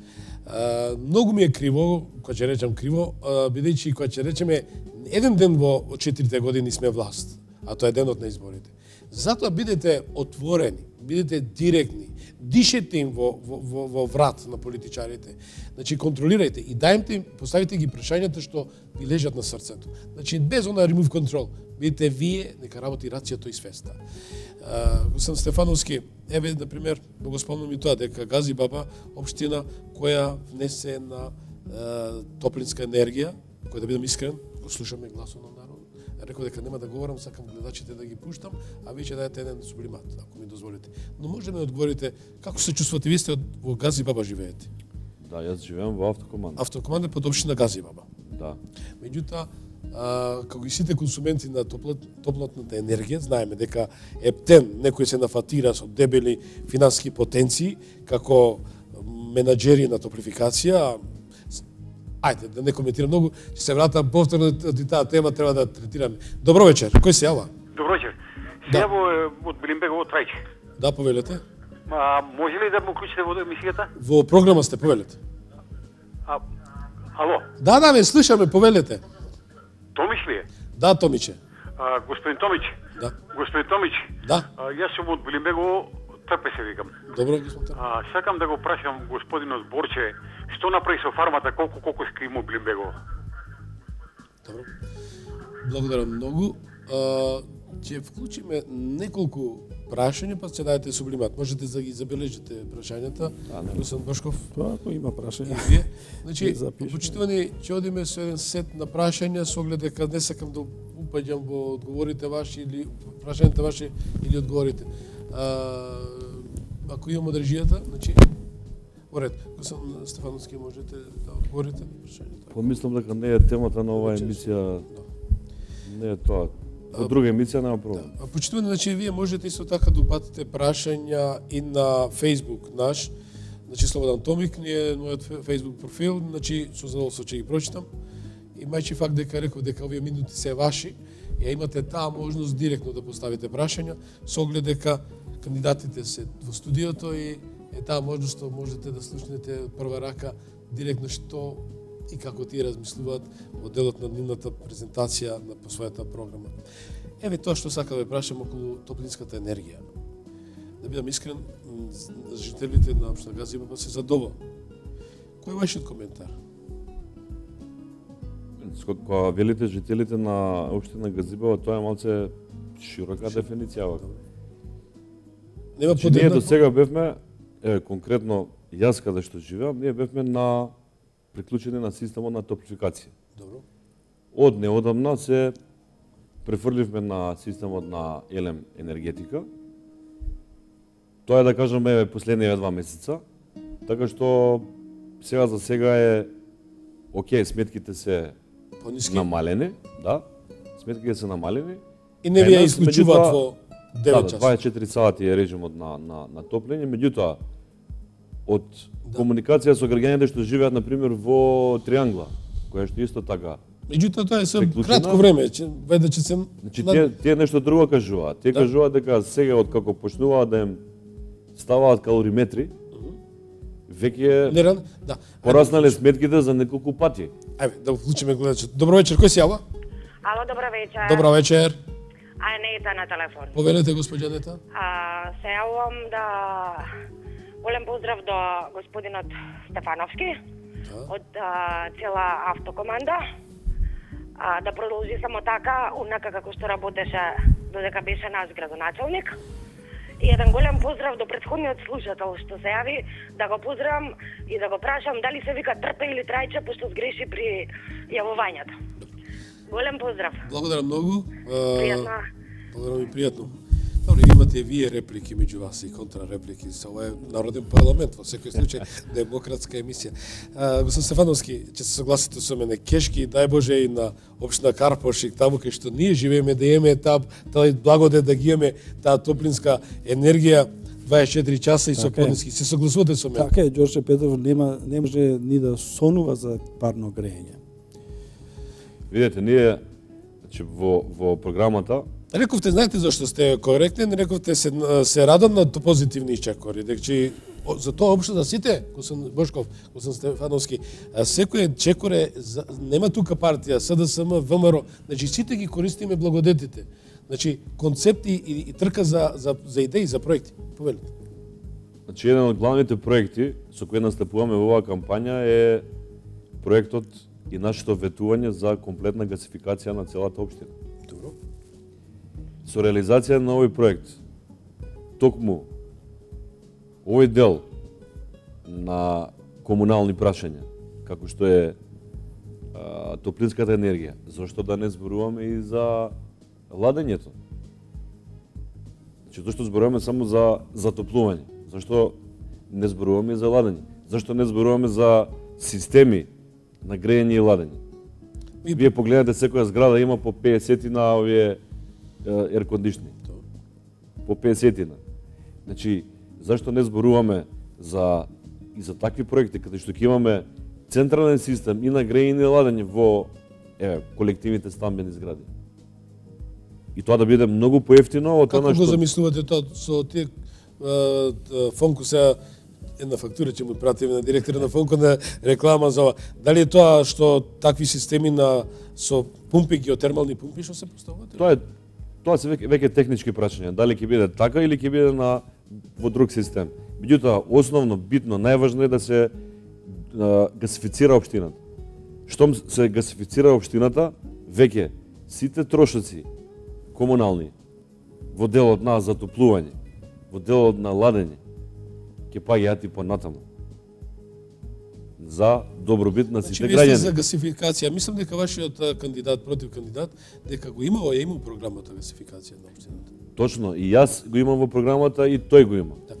Многу ми е криво, кога ќе речам криво, бидејќи кога ќе речеме еден ден во 4 години сме власт, а тоа е денот на изборите. Затоа бидете отворени, бидете директни, дишете им во врат на политичарите. Значи, контролирајте и дајте им, поставите ги прашањата што ви лежат на срцето. Значи, без она remove control, бидете вие, нека работи рацијата и свеста. Господин Стефановски, например, го спомнам и тоа, дека Гази Баба, општина која внесе на топлинска енергија, кој да бидам искрен, го слушаме гласот на народ. Реков дека нема да говорам, сакам гледачите да ги пуштам, а вие ќе дадете еден сублимат, ако ми дозволите. Но може да ми одговорите како се чувствувате, вие сте во Газибаба живеете? Да, јас живеем во Автокоманда. Автокоманда под општина Газибаба. Да. Меѓутоа, како и сите консументи на топлотната енергија, знаеме дека ептен некои се нафатира со дебели финансиски потенции како менаџери на топлификација. Ајде, да не коментирам многу, ќе се вратам повторно од таа тема, треба да третираме. Добро вечер, кој се јава? Добро вечер. Се јаво од Билимбегово Трајче. Да, повелете. Може ли да му уклучите во емисијата? Во програма сте, повелете. Ало? Да, ме слушаме, повелете. Томич ли е? Да, Томиче. Господин Томич. Да. Господин Томич. Да. Јас сум од Билимбегово, Трпе се викам. Добро, господин Трпе. Сакам да го прашам господинот Борче, што направи со фармата, колку скрима Билимбегово? Добро. Благодарам многу. Ќе вклучиме неколку прашања, па ќе дадете сублимат. Можете да ги забележите прашањата. Господин Бошков. Ако има прашања. Значи, почитувани, ќе одиме со еден сет на прашања, со оглед дека не сакам да упаѓам во одговорите ваши или прашањата ваши или одговорите. Ако имам одржијата, значи во ред. Господин Стефановски, можете да одговорите на прашањата. Помислам дека не е темата на оваа емисија. Не е тоа. Во друга емисија нема проблем. Почитувани, значи вие можете исто така да упатите прашања и на Facebook наш, значи Слободан Томик, ние мојот Facebook профил, значи со задоволство ќе ги прочитам. И мајчи факт дека реков дека овие минути се ваши, ја имате таа можност директно да поставите прашања, со оглед дека кандидатите се во студиото и е таа можност можете да слушнете од прва рака директно што и како тие размислуваат во делот на нивната презентација по својата програма. Еве тоа што сакам да прашам околу топлинската енергија. Да бидам искрен, жителите на општина Газибаба се задоволни. Кој е вашиот коментар? Кога велите жителите на општина Газибаба, тоа е малце широка дефиниција. Нема подеднакво. Ние до сега бевме, конкретно јас каде што живеам, ние бевме на приклучени на системот на топлификација. Добро. Од неодамна се префрливме на системот на елем енергетика. Тоа е да кажеме последниве 2 месеца, така што сега за сега е окей, сметките се пониски, намалени, да. Сметките се намалени. И не ви ја исклучуваат во 9 часа. 24 сати е режимот на топлење, меѓутоа од комуникација со граѓаните што живеат на пример во Триангла, која што исто така. Меѓутоа тоа е со кратко време, веде се. Значи тие нешто друго кажуваат. Тие кажуваат дека сега од како почнуваат да им ставаат калориметри, веќе пораснале сметките за неколку пати. Ајде да вклучиме гледачот. Добро вечер, кој се јава? Ало, добро вечер. Добро вечер. Нета на телефон. Повелете, госпоѓа Нета. Се јавувам да голем поздрав до господинот Стефановски од цела автокоманда. Да продолжи само така, унака како што работеше додека беше наш градоначалник. И еден голем поздрав до претходниот слушател што се јави, да го поздравам и да го прашам дали се вика Трпе или Трајче, пошто сгреши при јавувањето. Голем поздрав. Благодарам многу. Пријатно. Благодарам и пријатно. Добре, имате вие реплики меѓу вас и контрареплики. Ова е народен парламент, во секој случај демократска емисија. Господин Стефановски, ќе се согласите со мене, кешки, дај Боже и на општина Карпошик, таму кај што ние живееме, да имаме таа благодет да ги имаме таа топлинска енергија 24 часа и со пониски. Се согласувате со мене? Така е, Ѓорче Петров не може ни да сонува за парно грејење. Видете, ние во програмата рековте, знаете зашто сте коректен, рековте се радам на позитивни чекори, дека за тоа општо за сите, господин Бошков, господин Стефановски, секој чекор е нема тука партија, СДСМ, ВМРО, значи сите ги користиме благодетите. Значи концепти и трка за идеи, за проекти. Повелете. Значи еден од главните проекти со кој настапуваме во оваа кампања е проектот и нашето ветување за комплетна гасификација на целата општина. Добро. Со реализација на овој проект, токму овој дел на комунални прашања, како што е топлинската енергија, зашто да не зборуваме и за ладењето? Значи, зашто зборуваме само за затоплување? Зашто не зборуваме за ладење? Зашто не зборуваме за системи на грејење и ладење? Вие погледнете, секоја зграда има по 50 на овие еркондишни. По 50 на. Значи, зашто не зборуваме и за такви проекти, каде што ќе имаме централен систем и на грејење и ладење во колективните стамбени згради? И тоа да биде многу поевтино од она што... Како го замислувате тоа со тие Фонко сега една фактура ќе му пратиме на директор на Фонко на реклама за ова. Дали е тоа што такви системи со пумпи, геотермални пумпи што се поставуваат? Тоа се веќе технички прашања, дали ќе биде така или ќе биде во друг систем. Меѓутоа, основно, битно, најважно е да се гасифицира општината. Штом се гасифицира општината, веќе сите трошоци комунални во делот на затоплување, во делот на ладење, ќе паѓаат и понатаму. За добробит на сите граѓани. За гасификација, мислам дека вашиот кандидат против кандидат дека го имал програмата гасификација на општината. Точно, и јас го имам во програмата и тој го има. Да.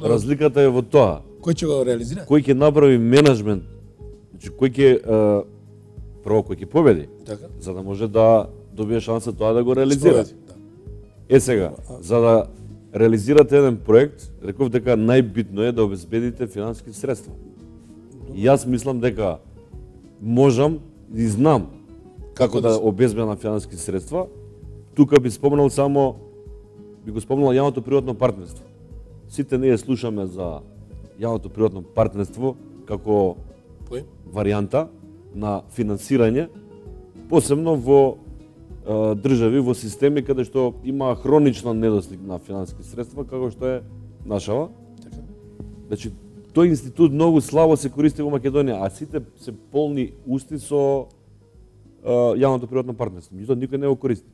Разликата е во тоа. Кој ќе го реализира? Кој ќе направи менеджмент, значи кој ќе прво кој ќе победи, така, за да може да добие шанса тоа да го реализира. Да. Сега, за да реализирате еден проект, реков дека најбитно е да обезбедите финансиски средства. И јас мислам дека можам и знам како да обезбедам финансиски средства. Тука би спомнал јавното приватно партнерство. Сите ние слушаме за јавното приватно партнерство како варијанта на финансирање, посебно во држави, во системи каде што има хроничен недостиг на финансиски средства, како што е нашава. Значи, тој институт многу слабо се користи во Македонија, а сите се полни усти со јавното приватно партнерство. Меѓутоа, никој не го користи.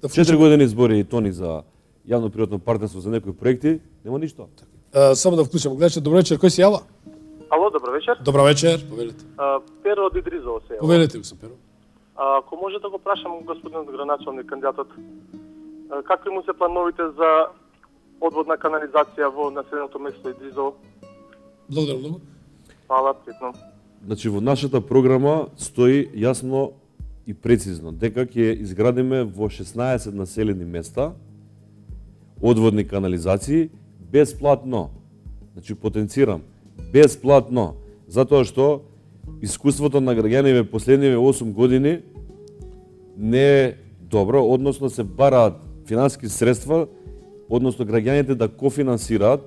4 години збори и Тони за јавно-приватно партнерство за некои проекти, нема ништо. Само да вклучам гледачот. Добро вечер, кој си јава? Ало, добро вечер. Добро вечер, повелете. Перо од Идризово се јава. Повелете го, Перо. Ако може да го прашам господинот градоначалник кандидатот, какви му се плановите за одводна канализација во населеното место Идризово? Благодарам многу. Фала, претно. Значи, во нашата програма стои јасно и прецизно дека ќе изградиме во 16 населени места одводни канализации бесплатно. Значи, потенцирам, бесплатно, затоа што искуството на граѓаните последниве 8 години не е добро, односно се бараат финансиски средства, односно граѓаните да кофинансираат,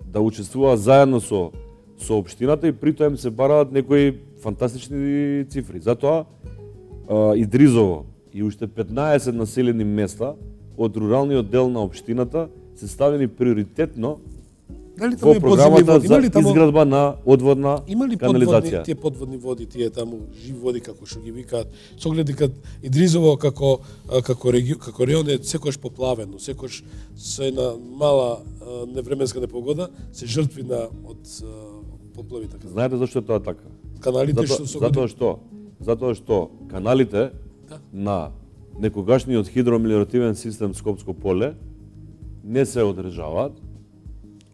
да учествуваат заедно со општината и при тоа им се бараат некои фантастични цифри. Затоа Идризово и уште 15 населени места од руралниот дел на општината се ставени приоритетно во програмата за изградба на одводна канализација. Има ли тие подводни води, тие таму живи води како што ги викаат, со оглед дека Идризово како регион е секогаш поплавено, секогаш со една мала невременска непогода се жртви од поплави така. Знаете зашто е тоа така? Каналите што се Затоа што каналите на некогашниот хидромелиоративен систем Скопско поле не се одржаваат.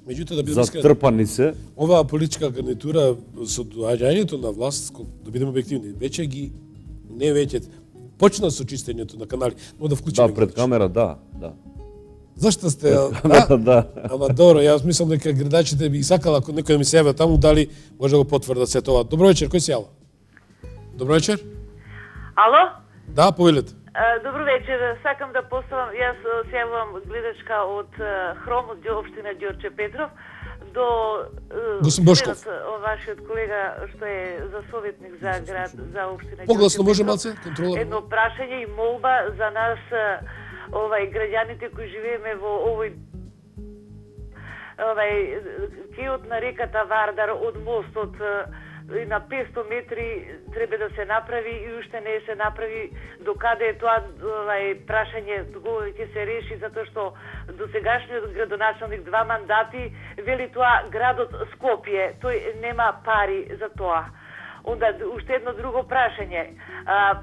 Меѓутоа, да бидеме затрпани се. Оваа политичка гарнитура со доаѓањето на власт, да бидеме објективни, почна со чистењето на канали, но да вклучиме. Да, пред камера, да. Зашто сте? Да. Ама добро, јас мислам дека градачите би сакала ако некој да ми се јави таму, дали може да го потврда се тоа. Добро вечер, кој се јава? Добро вечер. Ало? Да, повелете. Добро вечер, сакам да поставам, јас се јавувам гледачка од Хром, од општина Ѓорче Петров, до вашиот колега што е за советник за град, за општина Ѓорче Петров. Погласно може малце, контрола. Едно прашање и молба за нас, граѓаните кои живееме во кеот на реката Вардар од мостот и на 500 метри треба да се направи и уште не се направи. Докаде е тоа прашање ќе се реши, затоа што досегашниот градоначалник 2 мандати вели тоа градот Скопје, тој нема пари за тоа. Онда уште едно друго прашање.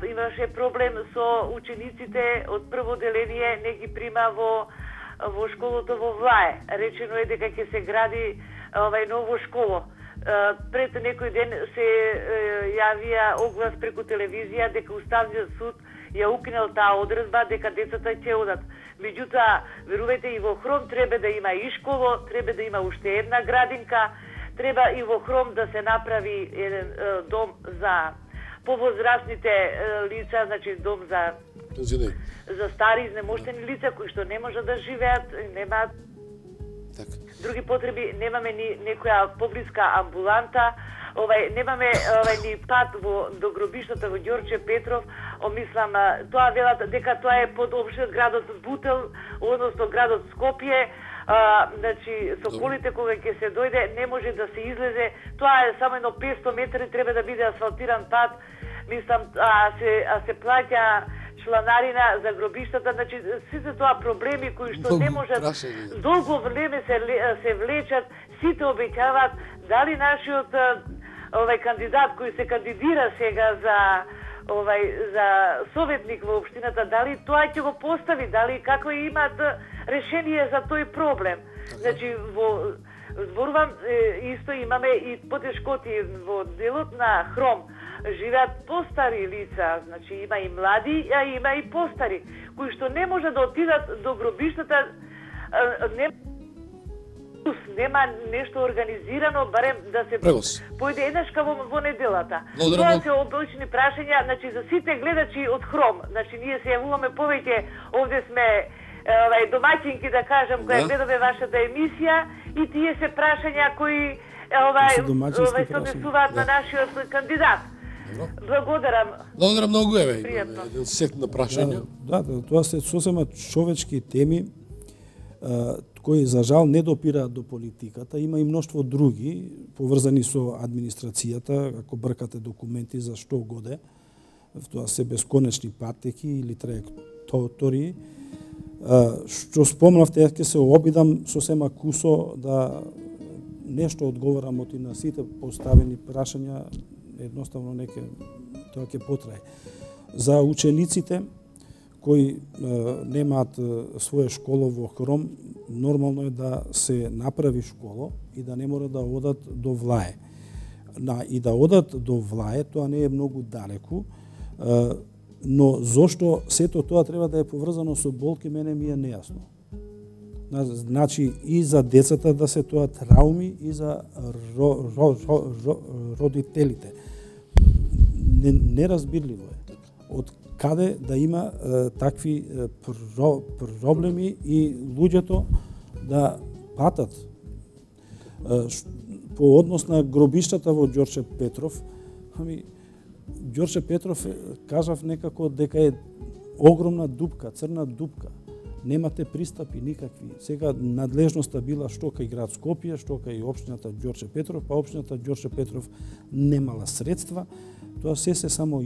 Имаше проблем со учениците од прво деление, не ги прима во школото во Влае. Речено е дека ќе се гради ново школо. Пред некој ден се јавија оглас преку телевизија дека Уставниот суд ја укинал таа одредба дека децата ќе одат. Меѓутоа, верувајте, и во Хром треба да има и школо, треба да има уште една градинка, треба и во Хром да се направи еден дом за повозрастните лица, значи дом за стари изнемоштени лица кои што не можат да живеат, немаат други потреби, немаме ни некоја поблиска амбуланта, немаме ни пат до гробиштата во Ѓорче Петров, мислам, тоа велат дека тоа е под општинот градот Бутел, односно градот Скопје, значи со колите кога ќе се дојде не може да се излезе, тоа е само едно 500 метри, треба да биде асфалтиран пат, мислам, се плаќа чланарина за гробиштата, значи сите тоа проблеми кои што не можат долго време се влечат, сите обеќаваат, дали нашиот кандидат кој се кандидира сега за советник во општината, дали тоа ќе го постави, дали како имаат решение за тој проблем. Значи зборувам исто имаме и потешкоти во делот на Хром. Живеат постари лица, значи има и млади, а има и постари, кои што не може да отидат до гробиштата, нема нешто организирано, барем да се појде еднашка во неделата. Тоа се обични прашања, значи за сите гледачи од Хром, значи ние се јавуваме повеќе, овде сме домаќинки, да кажам, која гледаме вашата емисија, и тие се прашања кои се однесуваат на нашиот кандидат. Благодарам. Благодарам многу, еден сет на прашања. Да, тоа се сосема човечки теми, кои за жал не допираат до политиката. Има и множество други, поврзани со администрацијата, ако бркате документи за што годе, тоа се бесконечни патеки или трајектории. Што спомнавте, ќе се обидам сосема кусо да нешто одговорам од и на сите поставени прашања, едноставно тоа ќе потрае. За учениците кои немаат своје школо во Хром, нормално е да се направи школо и да не мора да одат до Влае. И да одат до Влае, тоа не е многу далеку, но зошто сето тоа треба да е поврзано со болки, мене ми е нејасно. Значи и за децата да се тоа трауми и за родителите. Неразбирливо е. Од каде да има такви проблеми и луѓето да патат. По однос на гробиштата во Ѓорче Петров, Ѓорче Петров кажав некако дека е огромна дупка, црна дупка. Немате пристапи никакви. Сега надлежноста била што кај град Скопје, што кај општината Ѓорче Петров, па општината Ѓорче Петров немала средства. Тоа се само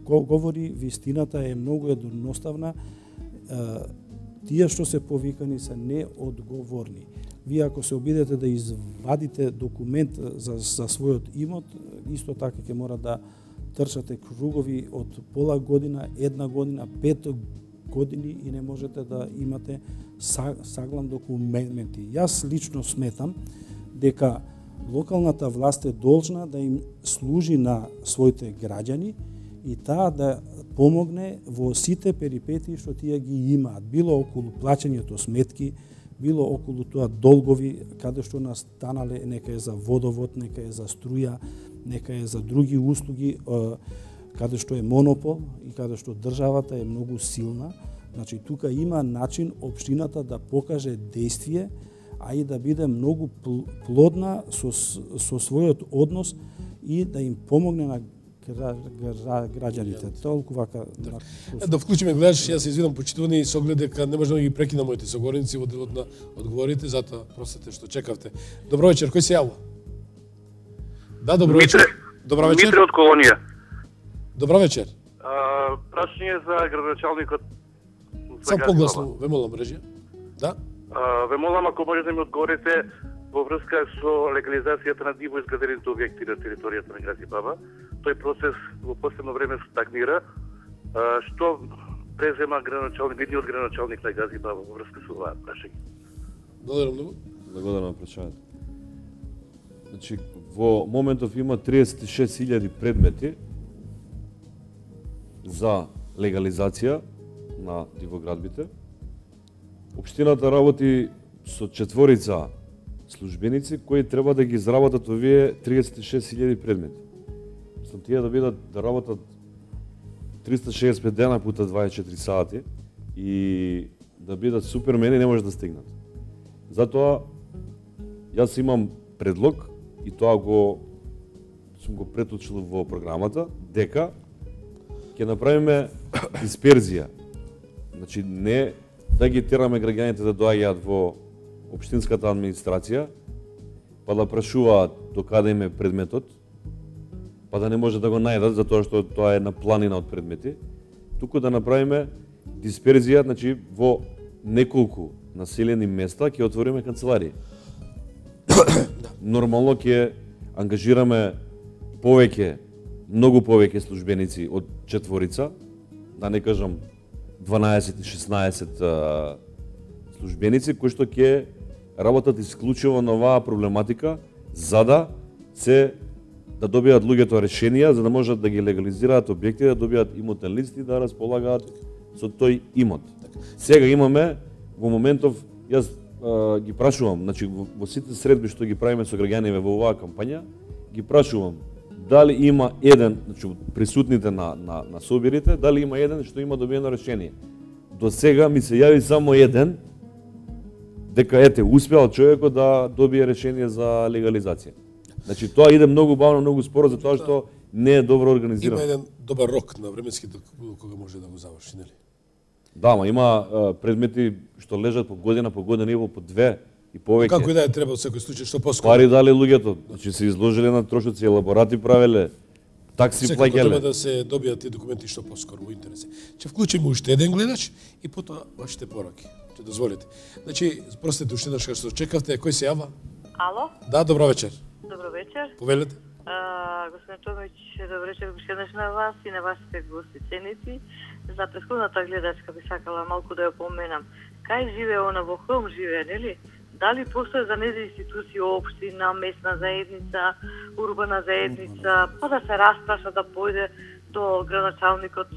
говори, вистината е многу едноставна. Тие што се повикани се неодговорни. Вие ако се обидете да извадите документ за својот имот, исто така ќе мора да трчате кругови од пола година, една година, 5 години и не можете да имате саглам документи. Јас лично сметам дека локалната власт е должна да им служи на своите граѓани и таа да помогне во сите перипетии што тие ги имаат, било околу плаќањето сметки, било околу тоа долгови, каде што настанале, нека е за водовод, нека е за струја, нека е за други услуги, каде што е монопол и каде што државата е многу силна. Значи, тука има начин општината да покаже действие, а и да биде многу плодна со својот однос и да им помогне на граѓаните. Толку вака. Да вклучиме гледачи, јас се извинам почитувани и со оглед дека не можам да ги прекинам моите согорници во делот на одговорите, затоа простете што чекавте. Добро вечер, кој се јавува? Да, добро вечер. Добро вечер. Дмитри од Колонија. Добро вечер. Прашање за градоначалникот. Сам погласно, ве молам, режија. Да? Ве молам ако можете да ми одговорите во врска со легализацијата на диво изградените објекти на територијата на Гази Баба. Тој процес во последно време стагнира. Што презема едниот градоначалник на Гази Баба во врска со оваа прашање? Благодарам многу. Благодарам на прашањето. Значи, во моментов има 36.000 предмети за легализација на дивоградбите. Општината работи со 4 службеници кои треба да ги изработат овие 36.000 предмети. Мислам, тие да работат 365 дена пута 24 сати и да бидат супермени не може да стигнат. Затоа јас имам предлог и тоа сум го преточил во програмата дека ќе направиме дисперзија. Значи не да ги тераме граѓаните да доаѓаат во општинската администрација, па да прашуваат до каде им е предметот, па да не може да го најдат затоа што тоа е на планина од предмети, туку да направиме дисперзија, значи во неколку населени места ќе отвориме канцеларии. Нормално ќе ангажираме многу повеќе службеници од 4, да не кажам 12-16 службеници кои што ќе работат исклучиво на оваа проблематика за да добијат луѓето решенија, за да можат да ги легализираат објекти, да добијат имотен лист и да располагаат со тој имот. Сега имаме во моментов, јас ги прашувам, значи во сите средби што ги правиме со граѓаните во оваа кампања, ги прашувам дали има еден, значи присутните на собирите, дали има еден што има добиено решение. До сега ми се јави само еден дека успеал човекот да добие решение за легализација. Значи тоа иде многу бавно, многу споро затоа што не е добро организирано. Има еден добар рок на временски кога може да го заврши, нели? Да, ма има предмети што лежат по година и по 2 и повеќе. Како и да е, треба во секој случај што поскоро. Пари дали луѓето, значи се изложиле на трошоци, елаборати правеле, такси плаќале. Треба да се добијат тие документи што поскоро во интерес. Ќе вклучиме уште еден гледач и потоа вашите пораки. Ќе дозволите. Значи, простете уште еднаш што чекавте, кој се јава? Ало? Да, добро вечер. Добро вечер. Повелете. Господин Томич, добро вечер уште еднаш на вас и на вашите гости ценици. За претходната гледачка би сакала малку да ја поменам. Кај живее она во Хром живее, нели? Дали постои за нејзе институции, општина, местна заедница, урбана заедница, па да се распраша, да појде до градоначалникот,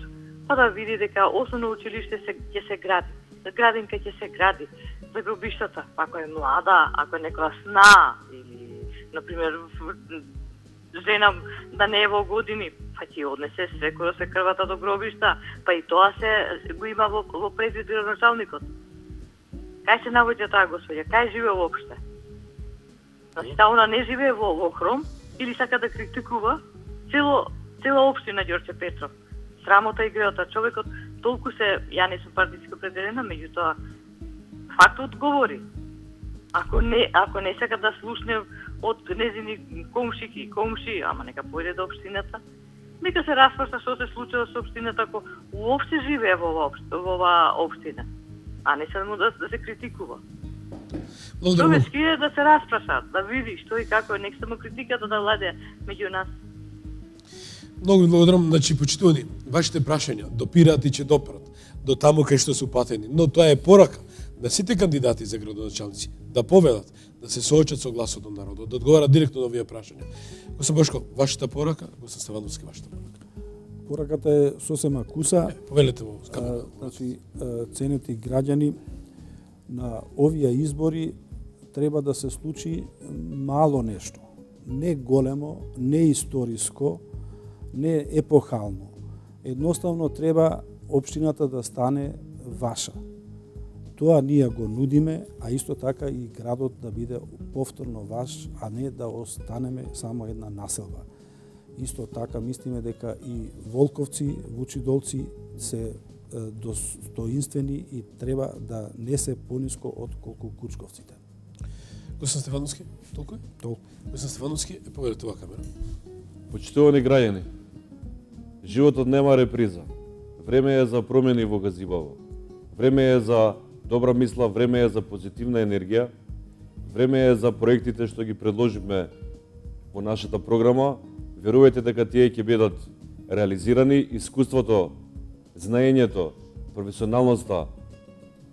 па да види дека основно училиште ќе се гради. Градинка ќе се гради за гробиштата, ако е млада, ако е некоја сна или например жена да не е во години, па ќе однесе секој се крвата до гробишта, па и тоа се го има во предвид градоначалникот. Кај се наоѓа таа господја? Кај живее воопште? Значи, она не живее во Хром или сака да критикува цела општина Ѓорче Петров. Срамота и греота. Човекот толку ја не сум партиски определена, меѓутоа фактот говори. Ако не сака да слушне од незини комши, ама нека појде до општината, нека се распраша што се случува со општината ако уопште живее во оваа општина, а не само да се критикува. Човечки е да се распраша, да види што и како е, нека само критиката да владе меѓу нас. Многу благодарам, значи почитувани, вашите прашања допираат и ќе допрат до таму кај што се упатени, но тоа е порака на сите кандидати за градоначалници да повелат, да се соочат со гласот на народот, да одговарат директно на овие прашања. Господин Бошко, вашата порака, господин Стефановски, вашата порака. Пораката е сосема куса. Повелете во значи, ценети граѓани, на овие избори треба да се случи мало нешто. Не големо, не историско, не епохално. Едноставно треба општината да стане ваша. Тоа ние го нудиме, а исто така и градот да биде повторно ваш, а не да останеме само една населба. Исто така мислиме дека и Волковци, Вучидолци се достоинствени и треба да не се пониско од колку Кучковците. Господин Стефановски, толку е? Толку. Господин Стефановски, повелете оваа камера. Почитувани граѓани, животот нема реприза. Време е за промени во Газибаво. Време е за добра мисла, време е за позитивна енергија, време е за проектите што ги предложиме во нашата програма. Верувајте дека тие ќе бидат реализирани. Искуството, знаењето, професионалноста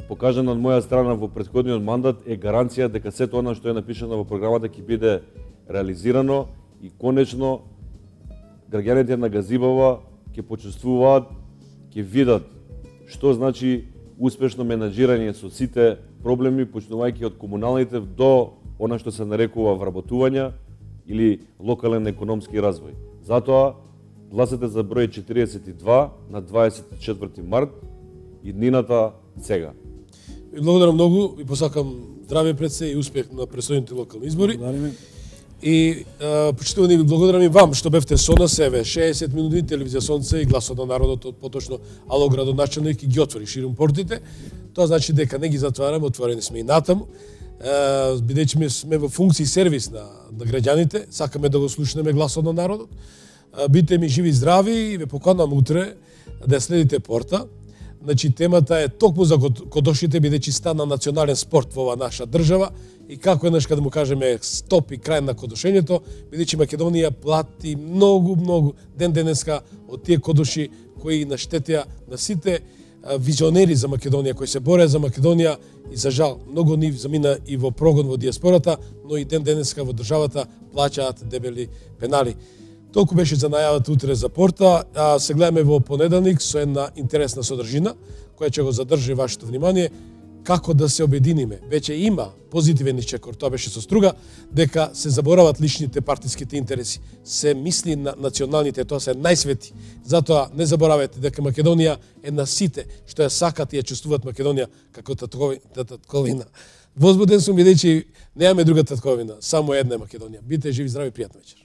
покажана од моја страна во претходниот мандат е гаранција дека сето она што е напишано во програмата ќе биде реализирано и конечно граѓаните на Газибава ќе почувствуваат, ќе видат што значи успешно менаџирање со сите проблеми, почнувајќи од комуналните до она што се нарекува вработување или локален економски развој. Затоа гласете за број 42 на 24 март и днината сега. Ви благодарам многу, ви посакам здраве пред се и успех на предстојните локални избори. Благодариме. И почитувани ви благодарам и вам што бевте со нас, еве 60 минути телевизија Сонце и гласот на народот, поточно ало градоначелник и ги отвори ширум портите. Тоа значи дека не ги затвараме, отворени сме и натаму. Бидејќи сме во функција сервис на граѓаните, сакаме да го слушнеме гласот на народот. Бидете ми живи и здрави и ве поканувам утре да следите порта. Значи темата е токму за кодошите, бидејќи стана национален спорт во оваа наша држава и како еднаш да му кажеме стоп и крај на кодошењето, бидејќи Македонија плати многу ден денеска од тие кодоши кои наштетија на сите визионери за Македонија, кои се бореа за Македонија и за жал многу нив замина и во прогон во диаспората, но и ден денеска во државата плаќаат дебели пенали. Толку беше за најавата утре за порта, а се гледаме во понеделник со една интересна содржина, која ќе го задржи вашето внимание, како да се обединиме. Веќе има позитивен исчекор, тоа беше со струга, дека се заборават личните партиските интереси. Се мисли на националните, тоа се најсвети. Затоа не заборавајте дека Македонија е на сите што ја сакат и ја чувствуваат Македонија како татковина. Возбуден сум бидејќи немаме друга татковина, само една е Македонија. Бидете живи, здрави, пријатна вечер.